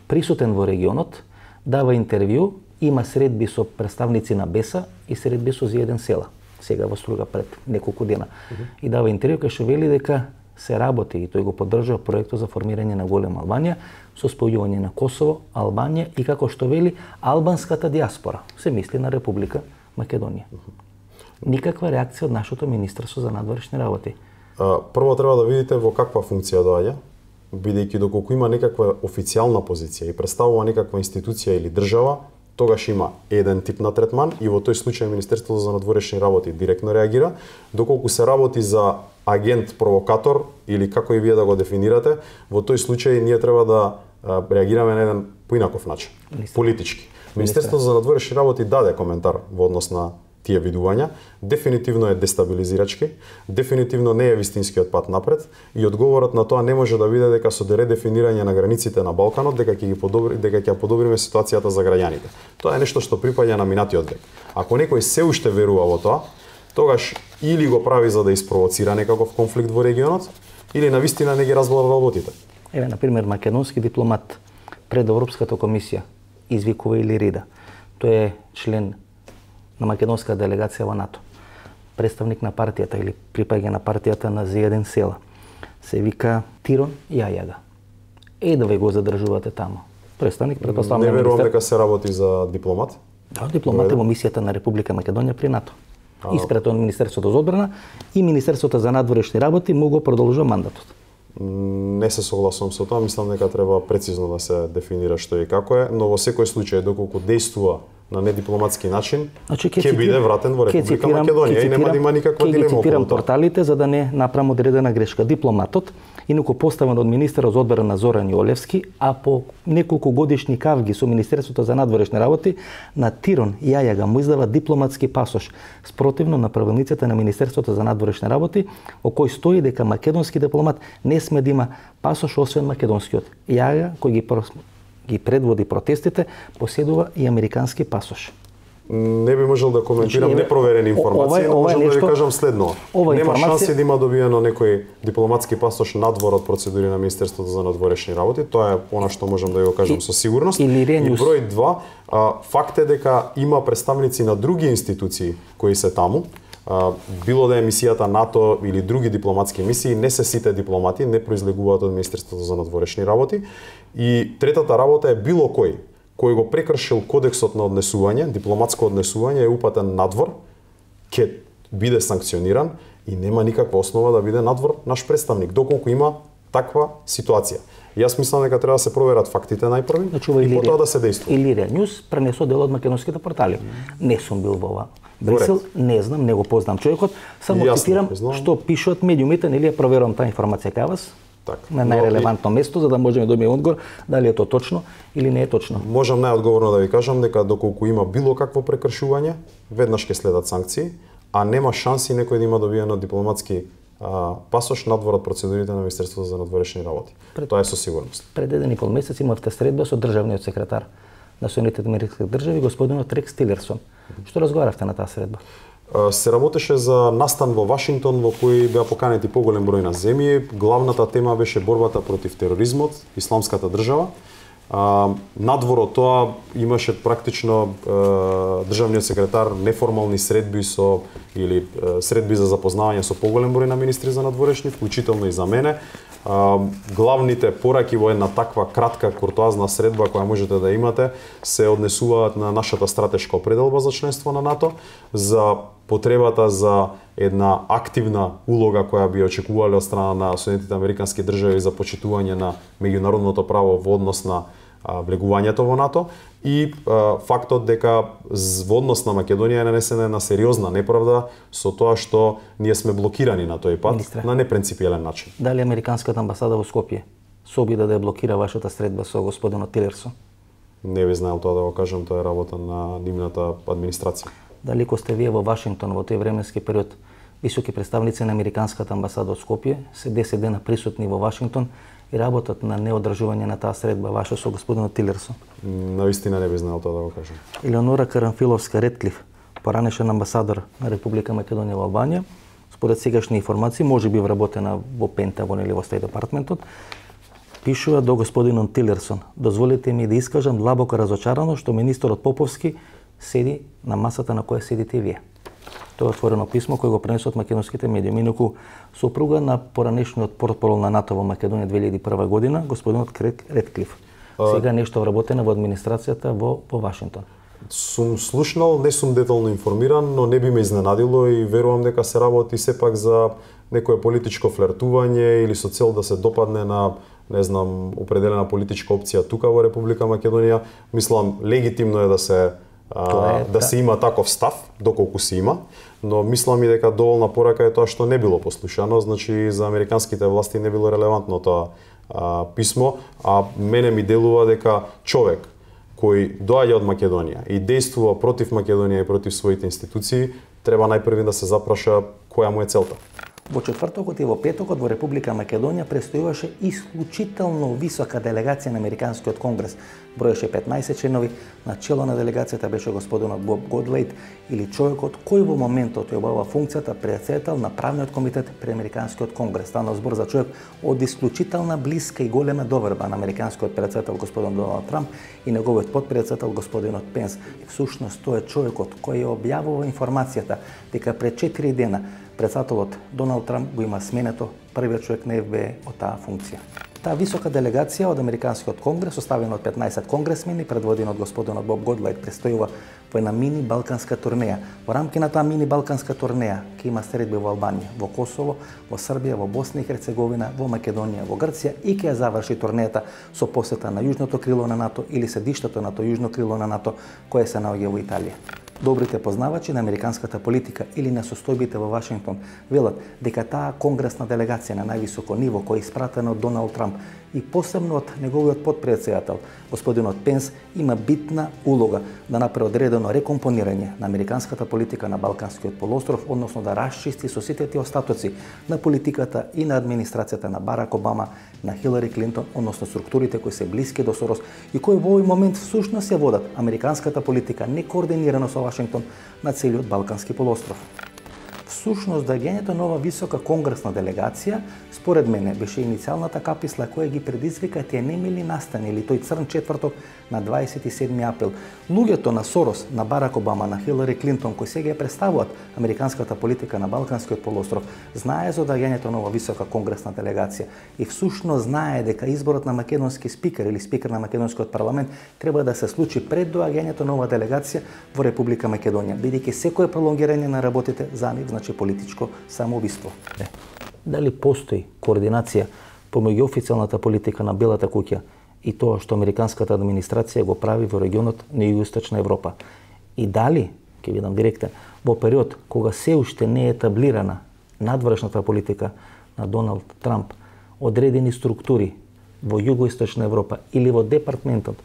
Присутен во регионот, дава интервју, има средби со представници на БЕСА и средби со Зиеден Села, сега во Струга пред неколку дена. Uh -huh. И дава интервју кај што вели дека се работи и тој го поддржува проектот за формирање на голема Албанија со спојување на Косово, Албанија и како што вели албанската диаспора. Се мисли на Република Македонија. Uh -huh. Никаква реакција од нашето Министерство за надворешни работи. Uh, прво треба да видите во каква функција доаѓа, бидејќи доколку има некаква официјална позиција и представува некаква институција или држава, тогаш има еден тип на третман и во тој случај Министерството за надворешни работи директно реагира. Доколку се работи за агент провокатор или како и вие да го дефинирате, во тој случај ние треба да реагираме на еден поинаков начин, Министер. Политички. Министерството за надворешни работи даде коментар во однос на тие видувања, дефинитивно е дестабилизирачки, дефинитивно не е вистинскиот пат напред и одговорот на тоа не може да биде дека со редефинирање на границите на Балканот дека ќе ги подобри, дека ќе подобриме ситуацијата за граѓаните. Тоа е нешто што припаѓа на минатиот век. Ако некој се уште верува во тоа, тогаш или го прави за да испровоцира некаков конфликт во регионот, или навистина не ги разбава работите. Еве, на пример, македонски дипломат пред Европската комисија извикува Илирида. Тој е член на македонска делегација во НАТО. Представник на партијата или припаѓа на партијата на Зиеден Села. Се вика Тирон Јајага. Едва ви го задржувате таму. Представник претпоставам не верувам дека се работи за дипломат. Да, дипломат е во мисијата на Република Македонија при НАТО. А, Испрето на Министерството за одбрана и Министерството за надворешни работи му го продолжува мандатот. Не се согласувам со тоа, мислам дека треба прецизно да се дефинира што и како е, но во секој случај доколку действува на недипломатски начин, значи, ќе биде вратен во Република Македонија и нема да има никаква дилема. Ќе цитирам порталите за да не направам одредена грешка. Дипломатот, инаку поставен од министерот за одбрана Зоран Јолевски, а по неколку годишни кавги со Министерството за надворешни работи, на Тирон Јајага му издава дипломатски пасош, спротивно на правилниците на Министерството за надворешни работи, во кој стои дека македонски дипломат не сме да има пасош освен македонскиот. Јајага, кој ги ги предводи протестите, поседува и американски пасош. Не би можел да коментирам значи, непроверени информации, но можам нешто, да ви кажам следно. Нема информација... шанси да има добиено некој дипломатски пасош надвор од процедури на Министерството за надворешни работи. Тоа е она што можам да ви го кажам и, со сигурност. И број два, а, факт е дека има представници на други институции кои се таму. Uh, било да е мисијата НАТО или други дипломатски мисии, не се сите дипломати, не произлегуваат од Министерството за надворешни работи. И третата работа е било кој, кој го прекршил кодексот на однесување, дипломатско однесување, е упатен надвор, ќе биде санкциониран и нема никаква основа да биде надвор наш представник, доколку има таква ситуација. Јас мислам дека треба да се проверат фактите најпрви значи, и потоа да се действува. Илирија Ньюс пренесо дел од македонските портали. Не сум бил во ова Брисел, не знам, не го познам човекот, само цитирам што пишуваат медиумите, нели ја проверувам таа информација кај вас. Так. На најрелевантно и... место за да можеме да добиеме одговор дали е тоа точно или не е точно. Можам најодговорно да ви кажам дека доколку има било какво прекршување, веднаш ќе следат санкции, а нема шанси некој да има добиено дипломатски а, пасош надвор од процедурите на Министерството за надворешни работи. Пред... Тоа е со сигурност. Пред еден и пол месец имавте средба со државниот секретар на Соединетите американски држави, господинот Рекс Тилерсон. Што разговаравте на таа средба? Се работеше за настан во Вашингтон во кој беа поканети поголем број на земји. Главната тема беше борбата против тероризмот, исламската држава А, надвор од тоа имаше практично е, државниот секретар неформални средби со или е, средби за запознавање со поголем број на министри за надворешни, вклучително и за мене. А, главните пораки во една таква кратка куртоазна средба која можете да имате се однесуваат на нашата стратешка определба за членство на НАТО, за потребата за една активна улога која би очекувале од страна на Соединетите американски држави за почитување на меѓународното право во однос на а, влегувањето во НАТО и а, фактот дека во однос на Македонија е нанесена една сериозна неправда со тоа што ние сме блокирани на тој пат. Министре, на непринципиелен начин. Дали американската амбасада во Скопје се обида да ја блокира вашата средба со господинот Тилерсон? Не ви знаел тоа да го кажам, тоа е работа на нивната администрација. Дали ко сте вие во Вашингтон во тој временски период, високи представници на американската амбасада од Скопје се десет дена присутни во Вашингтон и работат на неодржување на таа средба ваша со господинот Тилерсон? Навистина не би знаел тоа да го кажам. Елеонора Карамфиловска Редклиф, поранешен амбасадор на Република Македонија во Албанија, според сегашни информации, може би вработена во Пентагон или во Стейт Департментот, пишува до господинот Тилерсон: дозволете ми да искажам длабоко разочарано што министерот Поповски седи на масата на која седите и вие. Тоа е отворено писмо кој го пренесот македонските медиуми, инаку сопруга на поранешниот портпарол на НАТО во Македонија две илјади и прва година, господинот Крейг Редклиф. Сега нешто вработена во администрацијата во, во Вашингтон. Сум слушнал, не сум детално информиран, но не би ме изненадило и верувам дека се работи сепак за некое политичко флертување или со цел да се допадне на, не знам, определена политичка опција тука во Република Македонија. Мислам, легитимно е да се А, е, да се има таков став, доколку се има, но мислам и дека доволна порака е тоа што не било послушано, значи за американските власти не било релевантно тоа а, писмо, а мене ми делува дека човек кој доаѓа од Македонија и действува против Македонија и против своите институции, треба најпрви да се запраша која му е целта. Во четвртокот и во петокот во Република Македонија престојуваше исклучително висока делегација на Американскиот конгрес. Броеше петнаесет членови, на чело на делегацијата беше господинот Боб Годлейт, или човекот кој во моментот ја обава функцијата претседател на правниот комитет при Американскиот конгрес. Стана збор за човек од исклучителна блиска и голема доверба на Американскиот претседател господин Доналд Трамп и неговиот потпредседател господинот Пенс. И всушност тоа е човекот кој ја објавува информацијата дека пред четири дена председателот Доналд Трамп го има сменето првиот човек на Еф Б И од таа функција. Таа висока делегација од Американскиот конгрес, составена од петнаесет конгресмени, предводена од господинот Боб Годлайт, престојува во една мини балканска турнеја. Во рамки на таа мини балканска турнеја ќе има средби во Албанија, во Косово, во Србија, во Босна и Херцеговина, во Македонија, во Грција и ќе ја заврши турнејата со посета на јужното крило на НАТО или седиштето на тоа јужно крило на НАТО кое се наоѓа во Италија. Добрите познавачи на американската политика или на состојбите во Вашингтон велат дека таа конгресна делегација на највисоко ниво која е испратена од Доналд Трамп и посебно од неговиот потпредседател господинот Пенс има битна улога да направи одредено рекомпонирање на американската политика на Балканскиот полуостров, односно да расчисти со сите тие остатоци на политиката и на администрацијата на Барак Обама, на Хилари Клинтон, односно структурите кои се блиски до Сорос и кои во овој момент всушност ја водат американската политика некоординирано со Вашингтон на целиот Балкански полуостров. Всушност, доаѓањето на ова висока конгресна делегација, според мене, беше иницијалната каписла која ги предизвика тие немили настани или тој црн четврток на дваесет и седми април. Луѓето на Сорос, на Барак Обама, на Хилари Клинтон, кои сега ја представуваат американската политика на Балканскиот полуостров, знае за доаѓањето на ова висока конгресна делегација и всушност знае дека изборот на македонски спикер или спикер на македонскиот парламент треба да се случи пред доаѓањето на ова делегација во Република Македонија, бидејќи секое пролонгирање на работите за нив значи политичко самоубиство. Не. Дали постои координација помеѓу официјалната политика на Белата куќа и тоа што американската администрација го прави во регионот на Југоисточна Европа? И дали, ќе ви дам директен, во период кога се уште не е етаблирана надворешната политика на Доналд Трамп, одредени структури во Југоисточна Европа или во департментот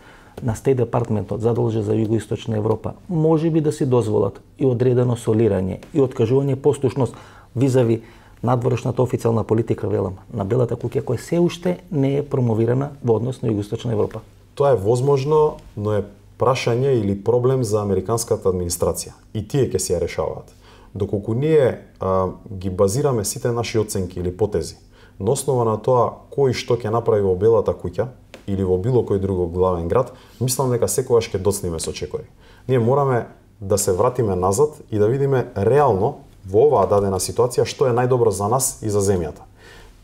на Стейт Департментот задолжен за Југоисточна Европа, може би да си дозволат и одредено солирање и откажување послушност визави надворешната официјална политика, велам, на Белата куќа, која се уште не е промовирана во однос на Југоисточна Европа. Тоа е возможно, но е прашање или проблем за американската администрација. И тие ќе се ја решаваат. Доколку ние а, ги базираме сите наши оценки или потези на основа на тоа кој што ќе направи во Белата куќа или во било кој друго главен град, мислам дека секогаш ќе доцниме со чекори. Ние мораме да се вратиме назад и да видиме реално во оваа дадена ситуација што е најдобро за нас и за земјата.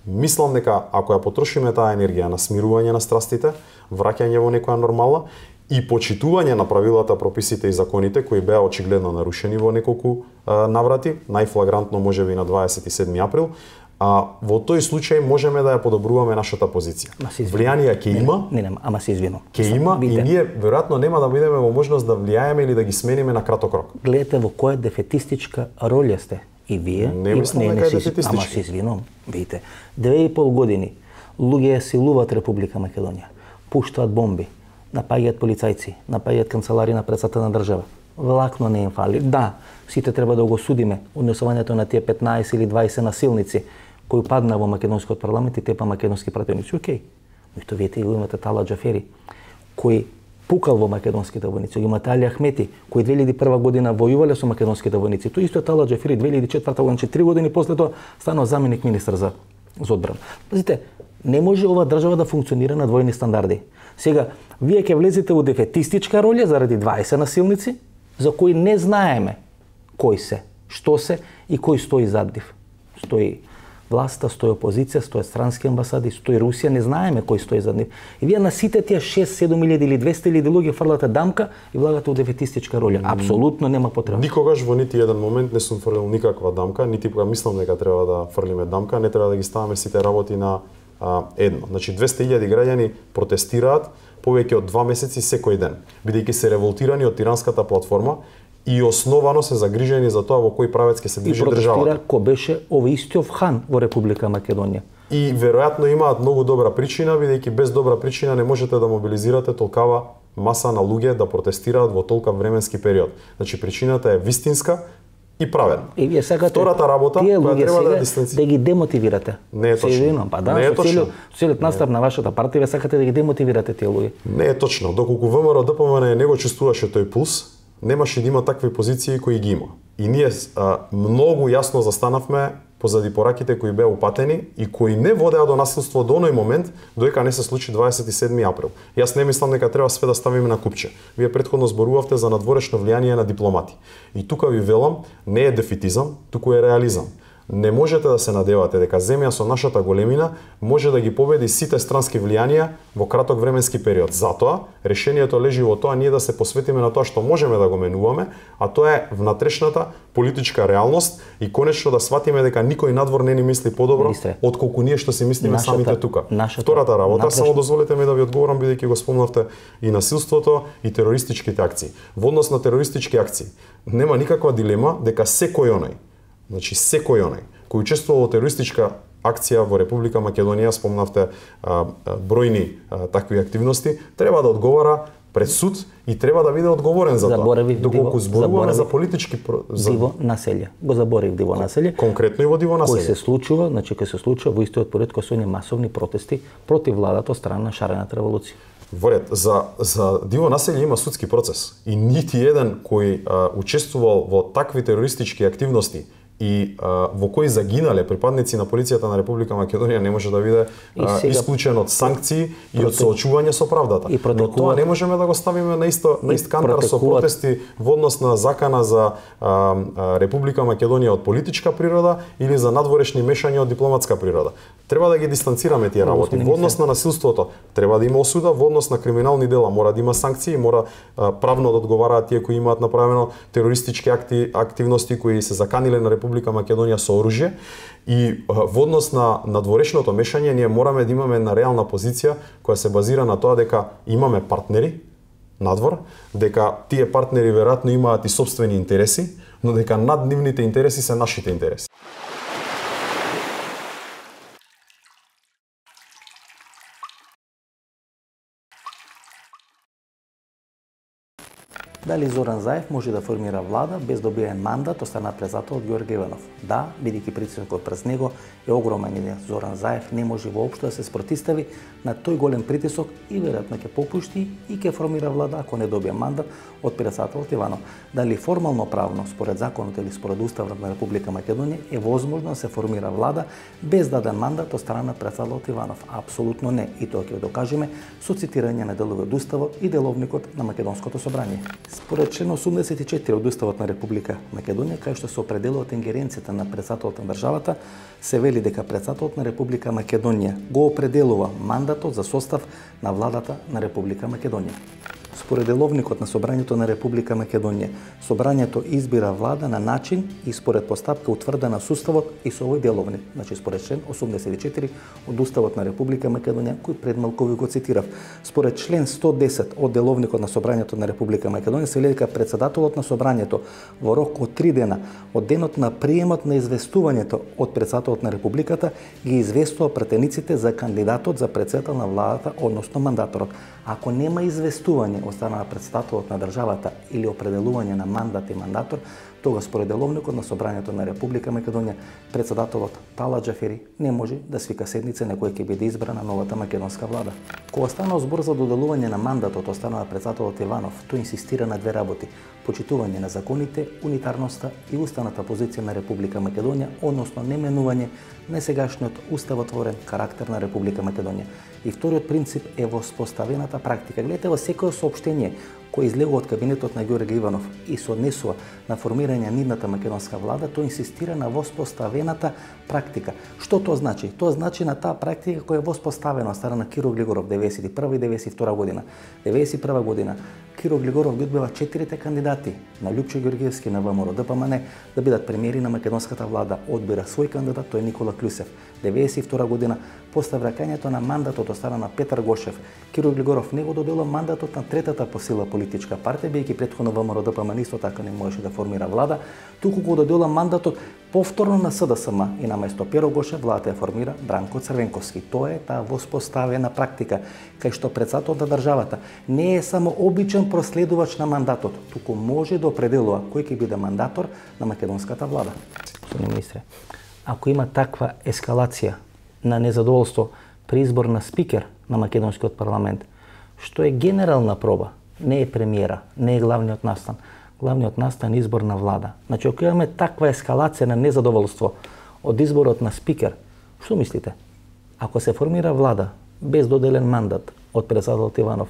Мислам дека ако ја потрошиме таа енергија на смирување на страстите, враќање во некоја нормала и почитување на правилата, прописите и законите кои беа очигледно нарушени во неколку а, наврати, најфлагрантно можеби на дваесет и седми април, а во тој случај можеме да ја подобруваме нашата позиција. Влијание ќе има, не, не, не, ама се извинувам. Ќе има и ние веројатно нема да бидеме во можност да влијаеме или да ги смениме на краток рок. Гледате во која дефетистичка роља сте и вие. Не мислам дека е дефетистичка. Ама се извинувам, видите. Две и пол години луѓе ја силуваат Република Македонија, пуштаат бомби, напаѓаат полицајци, напаѓаат канцелари на председателот на држава. Влакно не им фали. Да, сите треба да го судиме однесувањето на тие петнаесет или дваесет насилници кои падна во македонскиот парламент и тепа македонски пратеници. Океј. Но што вие го имате Тала Џафери кој пукал во македонските војници. Имате Али Ахмети кој две илјади и прва година војувале со македонските војници. Тој исто Тала Џафери две илјади и четврта година, три години после тоа станал заменик министар за за одбрана. Пазите, не може ова држава да функционира на двојни стандарди. Сега, вие ќе влезете во дефетистичка роља заради дваесет насилници, за кои не знаеме кои се, што се и кој стои зад нив. Стои власта, стои опозиција, стои странски амбасади, стои Русија, не знаеме кој стои зад нив. И вие на сите тие шест седум илјади или двесте илјади луѓе фрлате дамка и влагате во дефетистичка роља. Апсолутно нема потреба. Никогаш во нити еден момент не сум фрлил никаква дамка, нити кога мислам дека треба да фрлиме дамка, не треба да ги ставаме сите работи на а, едно. Значи двесте илјади граѓани протестираат повеќе од два месеци секој ден, бидејќи се револтирани од тиранската платформа и основано се загрижени за тоа во кој правец ќе се движи државата. И протестира кој беше овој истиот хан во Република Македонија. И веројатно имаат многу добра причина, бидејќи без добра причина не можете да мобилизирате толкава маса на луѓе да протестираат во толкав временски период. Значи причината е вистинска и праведна. И вие сакате втората работа која треба да дистанцира, да ги демотивирате. Не е точно. Па да, не е со точно. целиот настап на вашата партија вие сакате да ги демотивирате тие луѓе. Не е точно. Доколку ВМРО Д П М Н не го чувствуваше тој пулс, немаше да има такви позиции кои ги има. И ние а, многу јасно застанавме позади пораките кои беа упатени и кои не водеа до насилство до оној момент додека не се случи дваесет и седми април. Јас не мислам дека треба све да ставиме на купче. Вие претходно зборувавте за надворешно влијание на дипломати. И тука ви велам, не е дефетизам, туку е реализам. Не можете да се надевате дека земја со нашата големина може да ги победи сите странски влијанија во краток временски период. Затоа, решението лежи во тоа ние да се посветиме на тоа што можеме да го менуваме, а тоа е внатрешната политичка реалност и конечно да сватиме дека никој надвор не ни мисли подобро отколку ние што си мислиме нашата, самите тука. Нашата, Втората работа, натреш... само дозволете ми да ви одговорам бидејќи го спомнавте и насилството и терористичките акции. Во однос на терористички акции, нема никаква дилема дека секој оној Значи, секој оној кој учествува во терористичка акција во Република Македонија, спомнавте а, а, бројни а, такви активности, треба да одговара пред суд и треба да биде одговорен за заборев, тоа. Доколку зборуваме за политички за диво населје. Го заборив диво населје. Конкретно и во диво населје. Кој се случува, значи кој се случува во истиот период кога се оние масовни протести против владата од страна на шарената револуција. Во ред, за, за диво населје има судски процес и нити еден кој а, учествувал во такви терористички активности и а, во кои загинале припадници на полицијата на Република Македонија не може да биде а, исклучен од санкции и од соочување со правдата. Но тоа не можеме да го ставиме на исто на ист кантар со протести во однос на закана за а, а, Република Македонија од политичка природа или за надворешни мешања од дипломатска природа. Треба да ги дистанцираме тие работи. Во однос на насилството треба да има осуда, во однос на криминални дела мора да има санкции, мора а, правно да одговараат тие кои имаат направено терористички акти, активности кои се заканиле на Република Македонија со оружје и а, во однос на надворешното мешање ние мораме да имаме една реална позиција која се базира на тоа дека имаме партнери надвор, дека тие партнери веројатно имаат и сопствени интереси, но дека над нивните интереси се нашите интереси. Дали Зоран Заев може да формира влада без добиен мандат од страна председател Ѓорѓе Иванов? Да, бидејќи притисокот през него е огромен и Зоран Заев не може воопшто да се спротистави на тој голем притисок и веројатно ќе попушти и ќе формира влада ако не добие мандат од председателот Иванов. Дали формално правно според законот или според уставот на Република Македонија е возможно да се формира влада без даден мандат од страна на председателот Иванов? Апсолутно не, и тоа ќе докажеме со цитирање на делови од уставот и деловникот на Македонското собрание. Според член осумдесет и четири од Уставот на Република Македонија, кај што се определуваат ингеренцијата на председателот на државата, се вели дека председателот на Република Македонија го определува мандатот за состав на владата на Република Македонија. Според деловникот на Собранието на Република Македонија, Собранието избира влада на начин и според постапка утврдена со уставот и со овој деловник. Значи според член осумдесет и четири од Уставот на Република Македонија, кој пред малку ви го цитирав. Според член сто десет од деловникот на Собранието на Република Македонија се вели дека председателот на Собранието во рок од три дена од денот на приемот на известувањето од председателот на Републиката ги известува пратениците за кандидатот за председател на владата, односно мандаторот. Ако нема известување од страна на председателот на државата или определување на мандат и мандатор, тога според деловникот на Собранието на Република Македонија, председателот Тала Џафери не може да свика седница на која ќе биде избрана новата македонска влада. Кога станал збор за доделување на мандатот од страна на председателот Иванов, тој инсистира на две работи: почитување на законите, унитарноста и уставната позиција на Република Македонија, односно неменување на сегашниот уставотворен карактер на Република Македонија. И вториот принцип е воспоставената практика. Гледате, во секој соопштение кој излегува од кабинетот на Ѓорѓе Иванов и се однесува на формирање нивната македонска влада, тој инсистира на воспоставената практика. Што тоа значи? Тоа значи на таа практика која е воспоставена од страна на Киро Глигоров деветдесет и прва и деветдесет и втора година. деветдесет и прва година Киро Глигоров ги одбива четирите кандидати на Љупчо Ѓорѓевски на ВМРО Д П М Н да бидат премиери на македонската влада. Одбира свој кандидат, тој е Никола Клюсев. деветдесет и втора година после враќањето на мандатот од страна на Петар Гошев, Киро Глигоров не го доделува мандатот на третата по сила политичка партија, бидејќи претходно ВМРО Д П М Н исто така не можеше да формира влада, туку го доделува мандатот повторно на С Д С М и наместо Перо Гошев владата ја формира Бранко Црвенковски. Тоа е таа воспоставена практика, кај што председателот на државата не е само обичен проследувач на мандатот, туку може да определува кој ќе биде мандатор на македонската влада. Господин министре, ако има таква ескалација на незадоволство при избор на спикер на македонскиот парламент, што е генерална проба, не е премиера, не е главниот настан. Главниот настан е избор на влада. Значи, ако имаме таква ескалација на незадоволство од изборот на спикер, што мислите? Ако се формира влада без доделен мандат од председателот Иванов,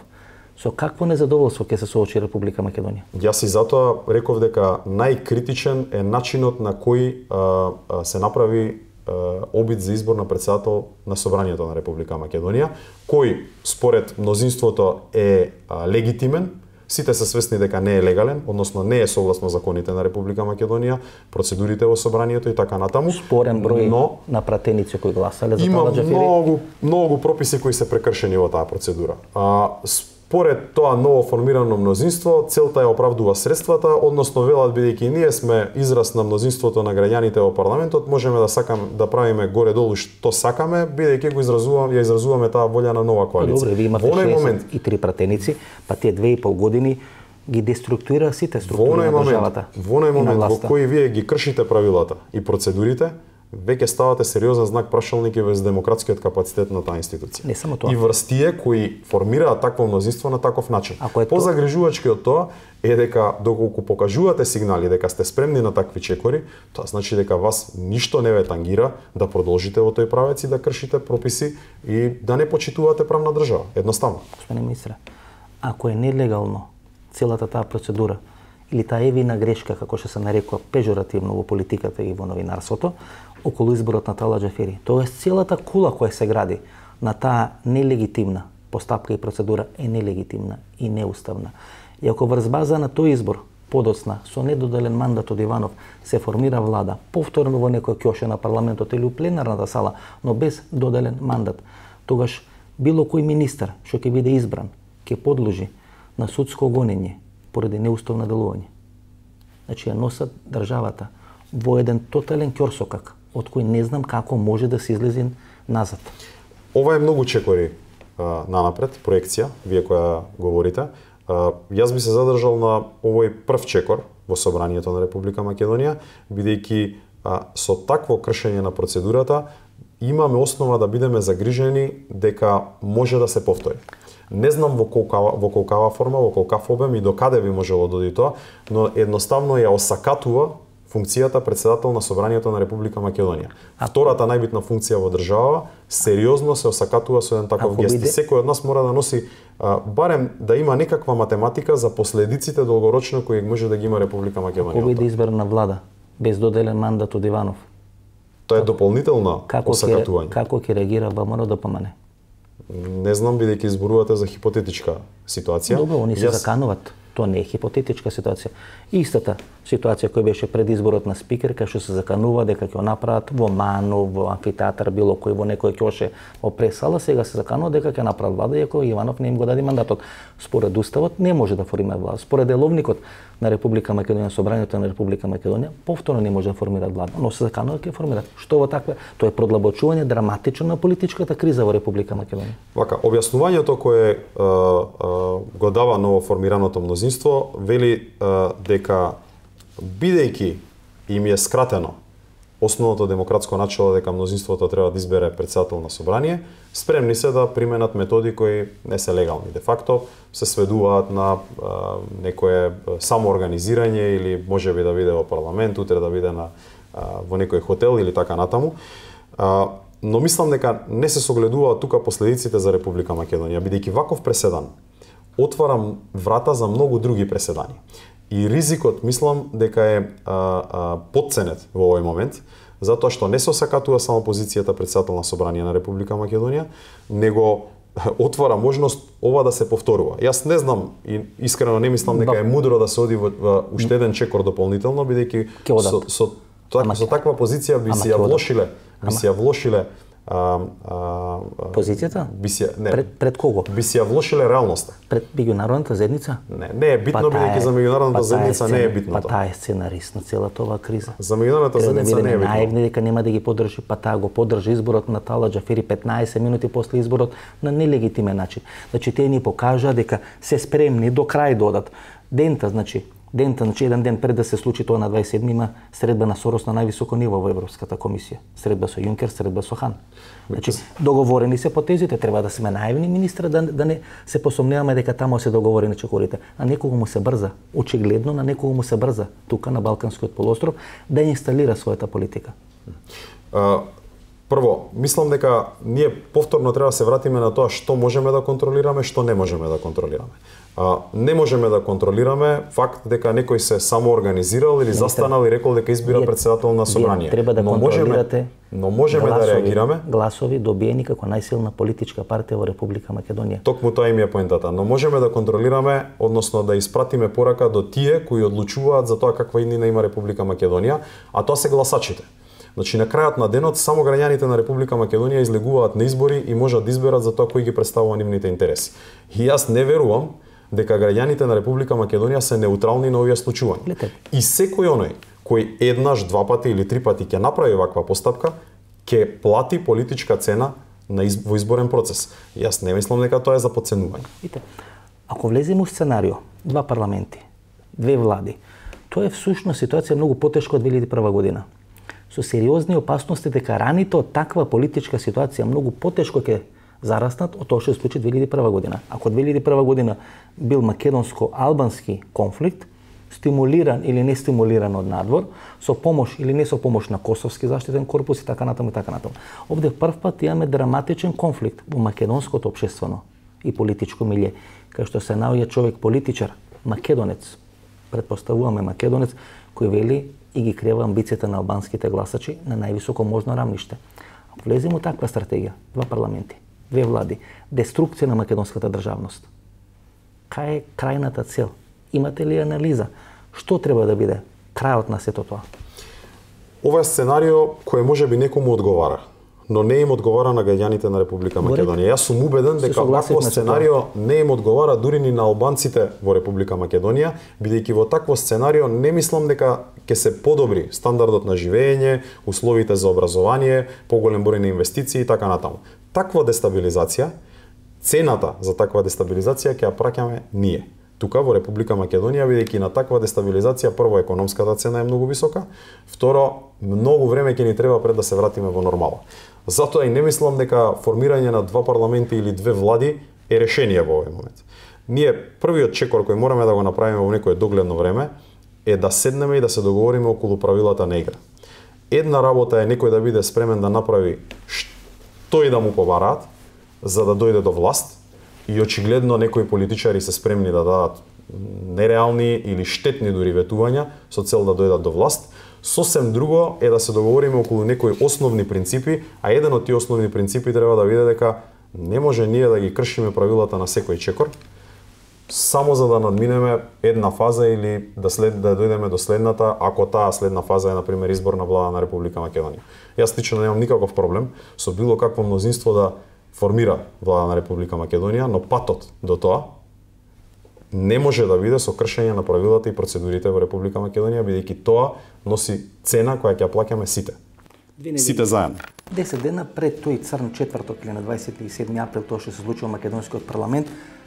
со какво незадоволство ќе се соочи Република Македонија? Јас и затоа реков дека најкритичен е начинот на кој а, а, се направи а, обид за избор на председател на Собранието на Република Македонија, кој според мнозинството е а, легитимен. Сите се свесни дека не е легален, односно не е согласно законите на Република Македонија, процедурите во собранието и така натаму. Спорен број но на пратеници кои гласале за Тала Џафери. Има многу многу прописи кои се прекршени во таа процедура. А според тоа ново формирано мнозинство, целта е оправдува средствата, односно велат бидејќи ние сме израз на мнозинството на граѓаните во парламентот, можеме да сакаме да правиме горе-долу што сакаме, бидејќи го изразуваме, ја изразуваме таа волја на нова коалиција. Добре, ви имате шеесет и три пратеници, па тие две и пол години ги деструктуира сите структури на државата. Во оној момент во кој вие ги кршите правилата и процедурите, веќе ставате сериозен знак прашалник и врз демократскиот капацитет на таа институција. Не само тоа. И врз тие кои формираат такво мнозинство на таков начин. Позагрижувачки од тоа е дека доколку покажувате сигнали дека сте спремни на такви чекори, тоа значи дека вас ништо не ве тангира да продолжите во тој правец и да кршите прописи и да не почитувате правна држава. Едноставно. Господине министре, ако е нелегално целата таа процедура или таа евина грешка, како што се нарекува пежоративно во политиката и во новинарството, околу изборот на Тала Џафери, тоест целата кула која се гради на таа нелегитимна постапка и процедура е нелегитимна и неуставна. И ако врз база на тој избор, подоцна, со недоделен мандат од Иванов, се формира влада, повторно во некој ќоше на парламентот или у пленарната сала, но без доделен мандат, тогаш било кој министер што ќе биде избран, ќе подлежи на судско гонење поради неуставно делување. Значи ја носат државата во еден тотален ќорсокак, од кој не знам како може да се излезе назад. Ова е многу чекори а, нанапред, проекција, вие која говорите. Јас би се задржал на овој прв чекор во собранието на Република Македонија, бидејќи со такво кршење на процедурата имаме основа да бидеме загрижени дека може да се повтори. Не знам во колкава, во колкава форма, во колкав обем и до каде би можело да дојде тоа, но едноставно ја осакатува функцијата председател на Собранието на Република Македонија. Втората најбитна функција во држава сериозно се осакатува со еден таков гест. Биде... Секој од нас мора да носи а, барем да има некаква математика за последиците долгорочно кои може да ги има Република Македонија. Ако биде избрана влада без доделен мандат од Иванов, тоа е дополнително како осакатување. Ке, како ќе реагира ВМРО да помане? Не знам, бидејќи зборувате за хипотетичка ситуација. Добро, они се Јас... закануват. Тоа не е хипотетичка ситуација. Истата ситуација која беше пред изборот на спикер, кај што се заканува дека ќе направат во Ману, во амфитеатар, било кој во некој ќоше во пресала, сега се заканува дека ќе направат влада, иако Иванов не им го даде мандатот. Според уставот не може да формира влада. Според деловникот на Република Македонија, собранието на Република Македонија, повторно не може да формира влада, но се заканува ќе формират. Што во таква? Тоа е продлабочување драматично на политичката криза во Република Македонија. Вака, објаснувањето кое е, е, го дава новоформираното мнозинство вели е, дека бидејќи им е скратено основното демократско начело дека мнозинството треба да избере председател на собрание, спремни се да применат методи кои не се легални. Де факто се сведуваат на а, некое самоорганизирање или можеби да биде во парламент, утре да биде на а, во некој хотел или така натаму. А, но мислам дека не се согледуваат тука последиците за Република Македонија, бидејќи ваков преседан отвара врата за многу други преседани. И ризикот, мислам, дека е а, а, подценет во овој момент, затоа што не се осакатува само позицијата председател на собрание на Република Македонија, него отвора можност ова да се повторува. Јас не знам и искрено не мислам дека е мудро да се оди во, во уште еден чекор дополнително, бидејќи со, со, так, со таква позиција би се ја влошиле, би се ја влошиле А, а, позицијата? Би се, не, пред, пред кого? Би се ја влошиле реалноста. Пред меѓународната заедница? Не, не е битно, па бидејќи за меѓународната заедница не е битно. Па таа е сценарист на целата оваа криза. За меѓународната заедница да не е битно. Наивни дека нема да ги поддржи, па таа го поддржи изборот на Тала Џафери петнаесет минути после изборот на нелегитимен начин. Значи тие ни покажаа дека се спремни до крај додат. Дента, значи Дента, значи еден ден пред да се случи тоа на дваесет и седми има средба на Сорос на највисоко ниво во Европската комисија. Средба со Јункер, средба со Хан. Значи договорени се по тезите, треба да сме наивни министри да, да не се посомневаме дека тамо се договорени чекорите. А некого му се брза, очигледно на некого му се брза тука на Балканскиот полуостров да инсталира својата политика. А, прво, мислам дека ние повторно треба да се вратиме на тоа што можеме да контролираме, што не можеме да контролираме. А, не можеме да контролираме факт дека некој се самоорганизирал или застанал и рекол дека избира председател на собрание. Треба да но контролирате можеме, но можеме гласови, да реагираме. Гласови добиени како најсилна политичка партија во Република Македонија. Токму тоа им е поентата, но можеме да контролираме, односно да испратиме порака до тие кои одлучуваат за тоа каква иднина има Република Македонија, а тоа се гласачите. Значи на крајот на денот само граѓаните на Република Македонија излегуваат на избори и можат да изберат за тоа кој ги представува нивните интереси. И јас не верувам дека граѓаните на Република Македонија се неутрални на овие случувања. И секој оној кој еднаш, два пати или три пати ќе направи ваква постапка, ќе плати политичка цена на из... во изборен процес. Јас не мислам дека тоа е за подценување. Видите, ако влеземе у сценарио, два парламенти, две влади, тоа е всушност ситуација многу потешка од две илјади и прва година. Со сериозни опасности дека раните од таква политичка ситуација многу потешко ќе зараснат од тоа што се случи две илјади и прва година. Ако две илјади и прва година бил македонско-албански конфликт, стимулиран или не стимулиран од надвор, со помош или не со помош на Косовски заштитен корпус и така натаму и така натаму. Овде прв пат имаме драматичен конфликт во македонското општествено и политичко милје, кај што се наоѓа човек политичар, македонец, претпоставуваме македонец, кој вели и ги крева амбициите на албанските гласачи на највисоко можно рамниште. Ако влеземе у таква стратегија, два парламенти, две влади, деструкција на македонската државност, кај е крајната цел? Имате ли анализа? Што треба да биде крајот на сето тоа? Ова е сценарио кој можеби некому одговара, но не им одговара на граѓаните на Република Македонија. Јас сум убеден дека вакво сценарио не им одговара дури ни на албанците во Република Македонија, бидејќи во такво сценарио не мислам дека ќе се подобри стандардот на живење, условите за образование, поголем број на инвестиции и така натаму. Таква дестабилизација, цената за таква дестабилизација ќе ја праќаме ние. тука во Република Македонија, бидејќи на таква дестабилизација прво економската цена е многу висока, второ многу време ќе ни треба пред да се вратиме во нормала. Затоа и не мислам дека формирање на два парламенти или две влади е решение во овој момент. Ние првиот чекор кој мораме да го направиме во некое догледно време е да седнеме и да се договориме околу правилата на игра. Една работа е некој да биде спремен да направи што и да му побараат за да дојде до власт, и очигледно некои политичари се спремни да дадат нереални или штетни дури ветувања со цел да дојдат до власт. Сосем друго е да се договориме околу некои основни принципи, а еден од тие основни принципи треба да биде дека не може ние да ги кршиме правилата на секој чекор, само за да надминеме една фаза или да след да дојдеме до следната, ако таа следна фаза е на пример избор на влада на Република Македонија. Јас лично немам никаков проблем со било какво мнозинство да формира влада на Република Македонија, но патот до тоа не може да биде со кршење на правилата и процедурите во Република Македонија, бидејќи тоа носи цена која ќе плаќаме сите. Сите заедно. десет дена пред тој црн четврток или на дваесет и седми април тоа што се случи во македонскиот парламент,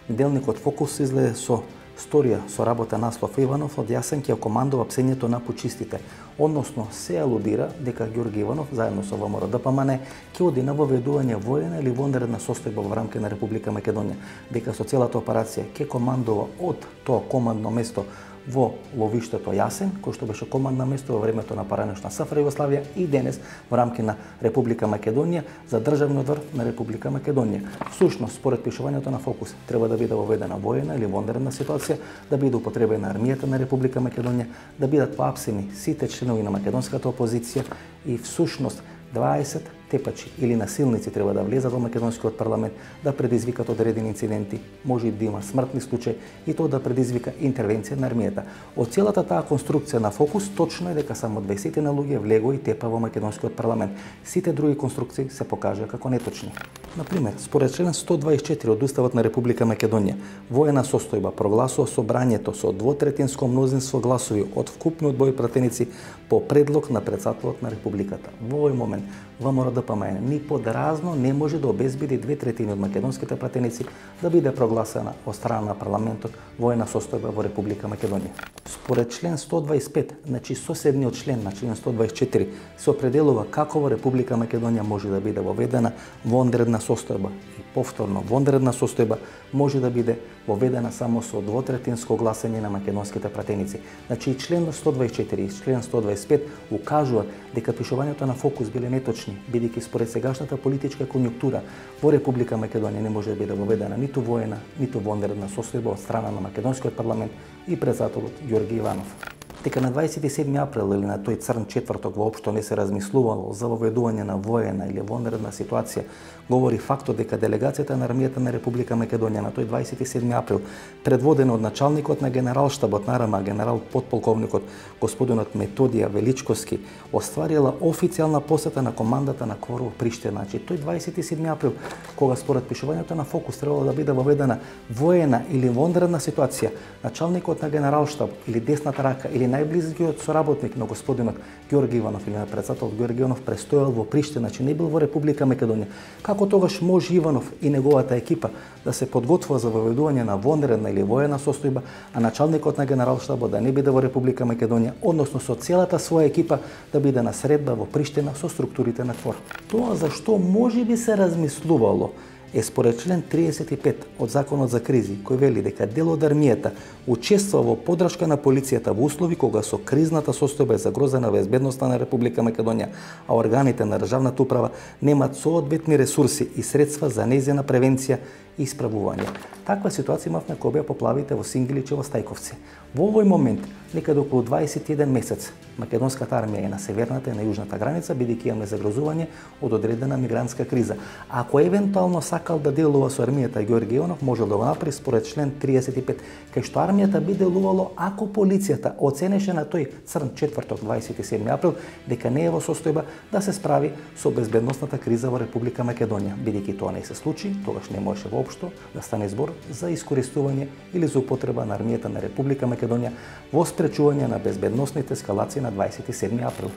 неделникот Фокус излезе со сторија со работа наслов Иванов од Јасен ќе командува псењето на почистите. Односно се алудира дека Ѓорги Иванов заедно со ВМРО-ДПМН ќе оди на воведување воена или вонредна состојба во рамки на Република Македонија, дека со целата операција ќе командува од тоа командно место во ловиштето Јасен, кој што беше командно место во времето на поранешна СФР Југославија и денес во рамки на Република Македонија за државниот врв на Република Македонија. Всушност, според пишувањето на Фокус, треба да биде воведена воена или вонредна ситуација, да биде употребена армијата на Република Македонија, да бидат поапсени сите членови на македонската опозиција и всушност дваесет тепачи или насилници треба да влезат во македонскиот парламент, да предизвикат одредени инциденти, може и да има смртни случаи и тоа да предизвика интервенција на армијата. Од целата таа конструкција на Фокус точно е дека само дваесет на луѓе влегоа и тепа во македонскиот парламент. Сите други конструкции се покажаа како неточни. Например, според член сто дваесет и четири од Уставот на Република Македонија, воена состојба прогласува собранието со двотретинско мнозинство гласови од вкупниот број пратеници по предлог на претседателот на Републиката. Во овој момент ВМРО-ДПМН ни подразно не може да обезбеди две третини од македонските пратеници да биде прогласена од страна на парламентот воена состојба во Република Македонија. Според член сто дваесет и пет, значи соседниот член на член сто дваесет и четири, се определува како во Република Македонија може да биде воведена вонредна состојба и повторно вонредна состојба може да биде воведена само со двотретинско гласање на македонските пратеници. Значи член сто дваесет и четири и член сто дваесет и пет укажуваат дека пишувањето на Фокус биле неточни, бидејќи според сегашната политичка конјунктура во Република Македонија не може да биде воведена ниту воена, ниту вонредна состојба од страна на македонскиот парламент и претседателот Ѓорги Иванов. Дека на дваесет и седми април или на тој црн четврток воопшто не се размислувало за воведување на воена или вонредна ситуација, говори фактот дека делегацијата на армијата на Република Македонија на тој дваесет и седми април, предводена од началникот на генералштабот на РМ, генерал подполковникот господинот Методија Величковски, остварила официјална посета на командата на КФОР во Приштина. Значи тој дваесет и седми април, кога според пишувањето на Фокус требало да биде воведена воена или вонредна ситуација, началникот на генералштаб или десната рака или најблизкиот соработник на господинот Ѓорги Иванов или на претседател Ѓорги Иванов престојал во Приштина, значи не бил во Република Македонија. Како тогаш може Иванов и неговата екипа да се подготвува за воведување на вонредна или воена состојба, а началникот на генералштабот да не биде во Република Македонија, односно со целата своја екипа да биде на средба во Приштина со структурите на КФОР? Тоа за што може би се размислувало е според член триесет и пет од Законот за кризи, кој вели дека дел од армијата учествува во поддршка на полицијата во услови кога со кризната состојба е загрозена безбедноста на Република Македонија, а органите на државната управа немаат соодветни ресурси и средства за нејзина превенција и исправување. Таква ситуација имавме кога беа поплавите во Сингиличе во Стајковци. Во овој момент, некаде околу дваесет и еден месец, македонската армија е на северната и на јужната граница, бидејќи имаме загрозување од одредена мигрантска криза. Ако евентуално сакал да делува со армијата Ѓорги Иванов, може да го направи според член триесет и пет, кај што армијата би делувало ако полицијата оценеше на тој црн четврток дваесет и седми април дека не е во состојба да се справи со безбедносната криза во Република Македонија. Бидејќи тоа не се случи, тогаш не можеше воопшто да стане збор за искористување или за употреба на армијата на Република Македонија во спречување на безбедносните ескалации на дваесет и седми април.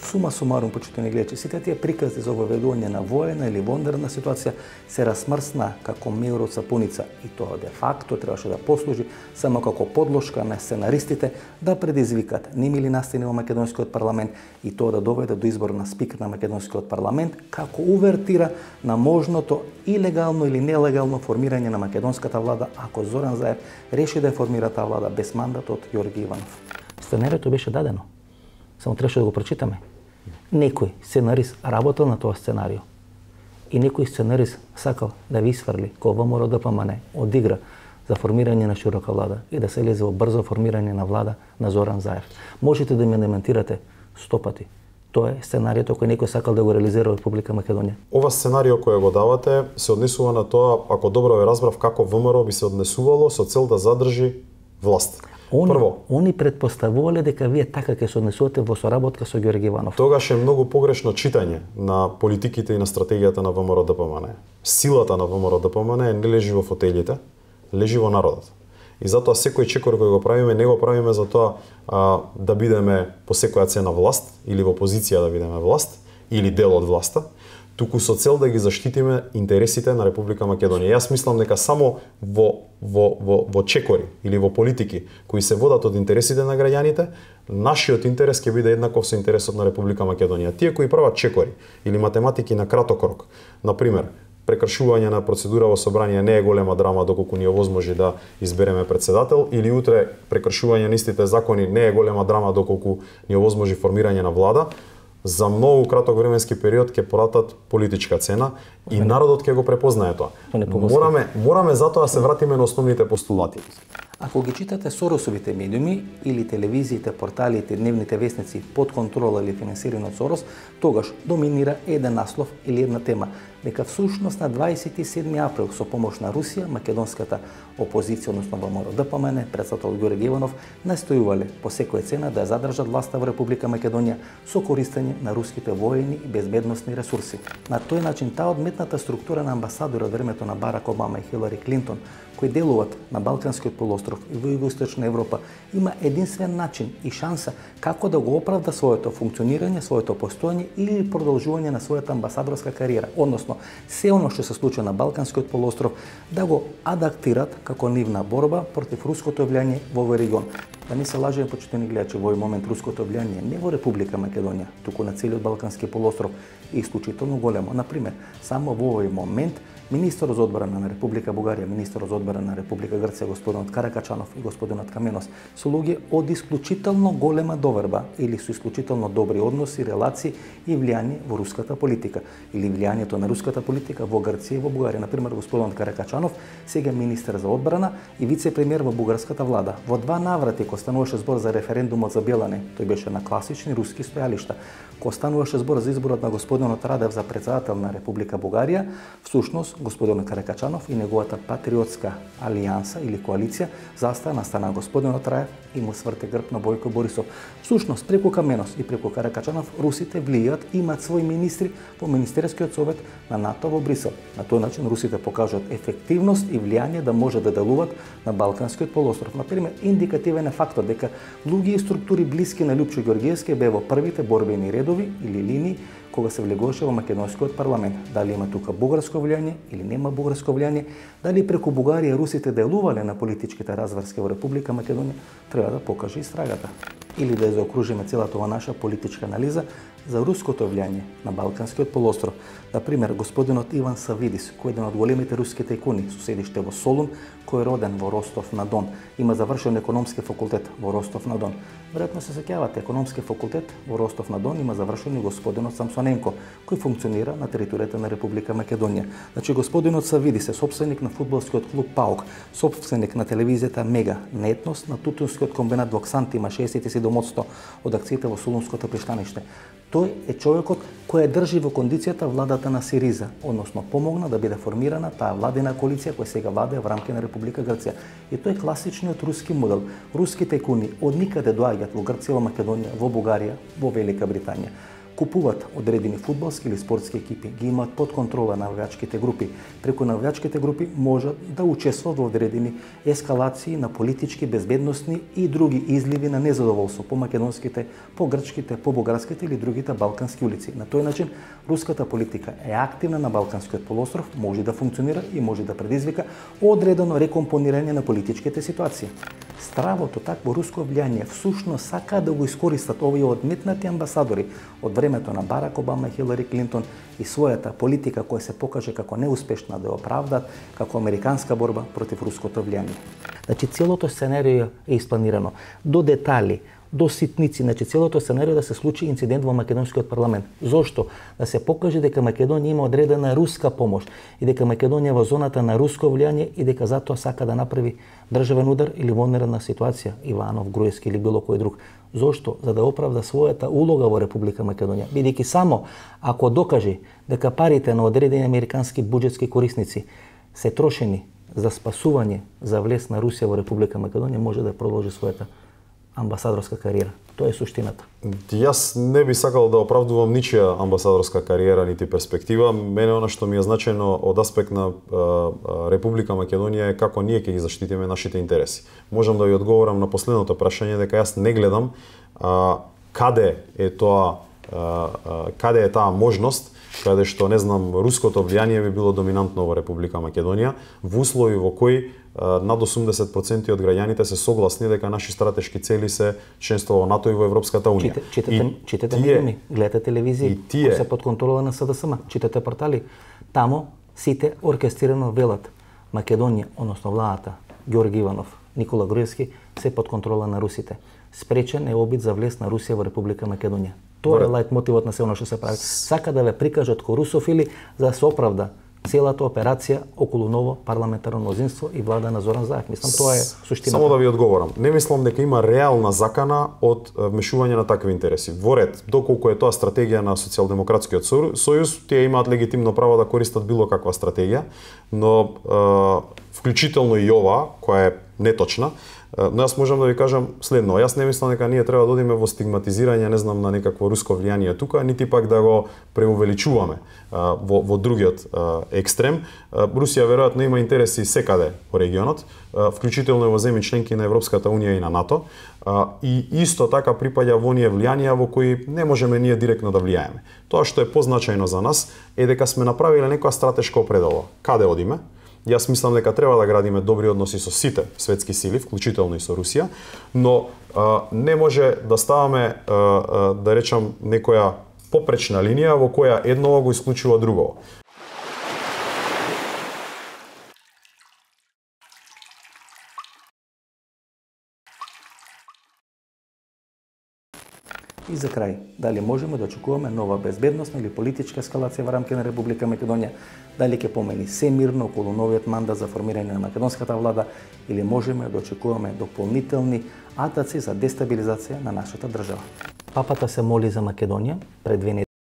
Сума сумарум, почитувани гледачи, сите тие прикази за воведување на воена или вонредна ситуација се расмрсна како меур од сапуница и тоа де факто требаше да послужи само како подлошка на сценаристите да предизвикат немили настани во македонскиот парламент и тоа да доведе до избор на спикер на македонскиот парламент како увертира на можното илегално или нелегално формирање на македонската влада ако Зоран Заев реши да ја формира таа влада без мандат од Ѓорги Иванов. Сценариото беше дадено. Само требаше да го прочитаме. Некој сценарист работел на тоа сценарио и некој сценарист сакал да ви сврли кој ВМРО ДПМН одигра за формирање на широка влада и да се лезе во брзо формирање на влада на Зоран Заев. Можете да ме дементирате сто пати. Тоа е сценариото кој некој сакал да го реализира во Република Македонија. Ова сценарио кој го давате се однесува на тоа, ако добро ве разбрав, како ВМРО би се однесувало со цел да задржи власт. Они, Прво, они предпоставувале дека вие така ќе се однесувате во соработка со Ѓорги Иванов. Тогаш е многу погрешно читање на политиките и на стратегијата на ВМРО ДПМН. Силата на ВМРО ДПМН не лежи во фотелите, лежи во народот. И затоа секој чекор кој го правиме, не го правиме за тоа а, да бидеме по секоја цена власт или во позиција да бидеме власт или дел од власта, туку со цел да ги заштитиме интересите на Република Македонија. Јас мислам дека само во во во во чекори или во политики кои се водат од интересите на граѓаните, нашиот интерес ќе биде еднаков со интересот на Република Македонија. Тие кои прават чекори или математики на краток рок, на пример, прекршување на процедура во собрание не е голема драма доколку ни овозможи да избереме председател, или утре прекршување на истите закони не е голема драма доколку ни овозможи формирање на влада, за многу краток временски период ќе поратат политичка цена и народот ќе го препознае тоа. Мораме мораме затоа да се вратиме на основните постулати. Ако ги читате Соросовите медиуми или телевизиите, порталите, дневните вестници под контрола или финансирани од Сорос, тогаш доминира еден наслов или една тема, дека всушност на дваесет и седми април со помош на Русија, македонската опозиција, односно ВМРО ДПМН, председател Ѓорги Иванов, настојувале по секоја цена да задржат власта во Република Македонија со користење на руските воени и безбедносни ресурси. На тој начин таа одметната структура на амбасадори од времето на Барак Обама и Хилари Клинтон, кои делуват на Балканскиот полуостров и во Југоисточна Европа, има единствен начин и шанса како да го оправда своето функционирање, своето постоење или продолжување на својата амбасадорска кариера, односно се оно што се случува на Балканскиот полуостров да го адаптират како нивна борба против руското влијание во овој регион. Да не се лажеме, почитувани гледачи, во овој момент руското влијание не во Република Македонија, туку на целиот Балкански полуостров е исклучително големо. Например, само во овој момент министерот за одбрана на Република Бугарија, министерот за одбрана на Република Грција, господинот Каракачанов и господинот Каменос, се луѓе од исклучително голема доверба или со исклучително добри односи, релации и влијание во руската политика или влијанието на руската политика во Грција и во Бугарија. Например, господинот Каракачанов сега министер за одбрана и вице-премиер во бугарската влада. Во два наврати кога стануваше збор за референдумот за Белане, тој беше на класични руски стојалишта. Кога стануваше збор за изборот на господинот Радев за председател на Република Бугарија, всушност господинот Каракачанов и неговата патриотска алијанса или коалиција застаа на страна господинот Раев и му сврте грб на Бојко Борисов. Всушност, преку Каменос и преку Каракачанов, русите влијаат и имаат своји министри во Министерскиот совет на НАТО во Брисел. На тој начин русите покажуваат ефективност и влијание да може да делуваат на Балканскиот полуостров. Например, индикативен е фактот дека луѓе и структури блиски на Љупчо Ѓоргиевски беа во првите борбени редови или линии кога се влегуваше во македонскиот парламент. Дали има тука бугарско влијание или нема бугарско влијание, дали преку Бугарија русите делувале на политичките разврски во Република Македонија, треба да покаже истрагата. Или да ја заокружиме целата ова наша политичка анализа за руското влијание на Балканскиот полуостров. Например, господинот Иван Савидис, кој е еден од големите руски тајкуни со седиште во Солун, кој е роден во Ростов на Дон, има завршен економски факултет во Ростов на Дон. Веројатно се сеќавате, економски факултет во Ростов на Дон има завршен и господинот Самсоненко, кој функционира на територијата на Република Македонија. Значи, господинот Савидис е собственик на фудбалскиот клуб ПАОК, собственик на телевизијата Мега, на Етнос, на тутунскиот комбинат во Ксанти, има шеесет и седум одсто од акциите во Солунското пристаниште. Тој е човекот кој ја држи во кондицијата владата на Сириза, односно помогна да биде формирана таа владина коалиција која сега владее во рамки на Република Грција. И тој е класичниот руски модел. Руски тајкуни од никаде доаѓаат во Грција, во Македонија, во Бугарија, во Велика Британија. купуваат одредени фудбалски или спортски екипи, ги имаат под контрола на навијачките групи. Преку навијачките групи можат да учествуваат во одредени ескалации на политички, безбедносни и други изливи на незадоволство по македонските, по грчките, по бугарските или другите балкански улици. На тој начин руската политика е активна на Балканскиот полуостров, може да функционира и може да предизвика одредено рекомпонирање на политичките ситуации. Стравото такво руско влијание всушност сака да го искористат овие одметнати амбасадори од времето на Барак Обама и Хилари Клинтон и својата политика која се покаже како неуспешна да ја оправдат како американска борба против руското влијание. Значи целото сценарио е испланирано до детали, до ситници, значи целото сценарио да се случи инцидент во македонскиот парламент. Зошто? Да се покаже дека Македонија има одредена руска помош и дека Македонија во зоната на руско влијание и дека затоа сака да направи државен удар или вонерна ситуација, Иванов, Груевски или било кој друг. Зошто? За да оправда својата улога во Република Македонија, бидејќи само ако докаже дека парите на одредени американски буџетски корисници се трошени за спасување за влез на Русија во Република Македонија, може да продолжи својата амбасадорска кариера. Тоа е суштината. Јас не би сакал да оправдувам ничија амбасадорска кариера нити перспектива. Мене она што ми е значајно од аспект на а, Република Македонија е како ние ќе ги заштитиме нашите интереси. Можам да ви одговорам на последното прашање дека јас не гледам а, каде е тоа а, а, каде е таа можност каде што не знам руското влијание би било доминантно во Република Македонија во услови во кои над осумдесет проценти од граѓаните се согласни дека наши стратешки цели се членство во НАТО и во Европската унија. Чите, читате, читате медиуми, гледате телевизија, кои се под контрола на СДСМ, читате портали. Тамо сите оркестрирано велат Македонија, односно владата, Ѓорги Иванов, Никола Груевски се под контрола на русите. Спречен е обид за влез на Русија во Република Македонија. Тоа е лајт мотивот на се оно што се прави. Сака да ве прикажат ко русофили за да се оправда целата операција околу ново парламентарно мнозинство и влада на Зоран Заев. Мислам, тоа е суштината. Само да ви одговорам. Не мислам дека има реална закана од вмешување на такви интереси. Во ред, доколку е тоа стратегија на Социјалдемократскиот сојуз, тие имаат легитимно право да користат било каква стратегија, но е, вклучително и ова, која е неточна, но јас можам да ви кажам следно. Јас не мислам дека ние треба да одиме во стигматизирање, не знам, на некакво руско влијание тука, нити пак да го преувеличуваме а, во, во другиот а, екстрем. А, Русија веројатно има интереси секаде во регионот, а, вклучително и во земји членки на Европската унија и на НАТО, а, и исто така припаѓа во оние влијанија во кои не можеме ние директно да влијаеме. Тоа што е позначајно за нас е дека сме направиле некоја стратешка определба. Каде одиме? Јас мислам дека треба да градиме добри односи со сите светски сили, вклучително и со Русија, но а, не може да ставаме, а, а, да речам, некоја попречна линија во која едно го исклучува друго. И за крај, дали можеме да очекуваме нова безбедносна или политичка ескалација во рамки на Република Македонија? Дали ќе помени се мирно околу новиот мандат за формирање на македонската влада или можеме да очекуваме дополнителни атаци за дестабилизација на нашата држава? Папата се моли за Македонија пред две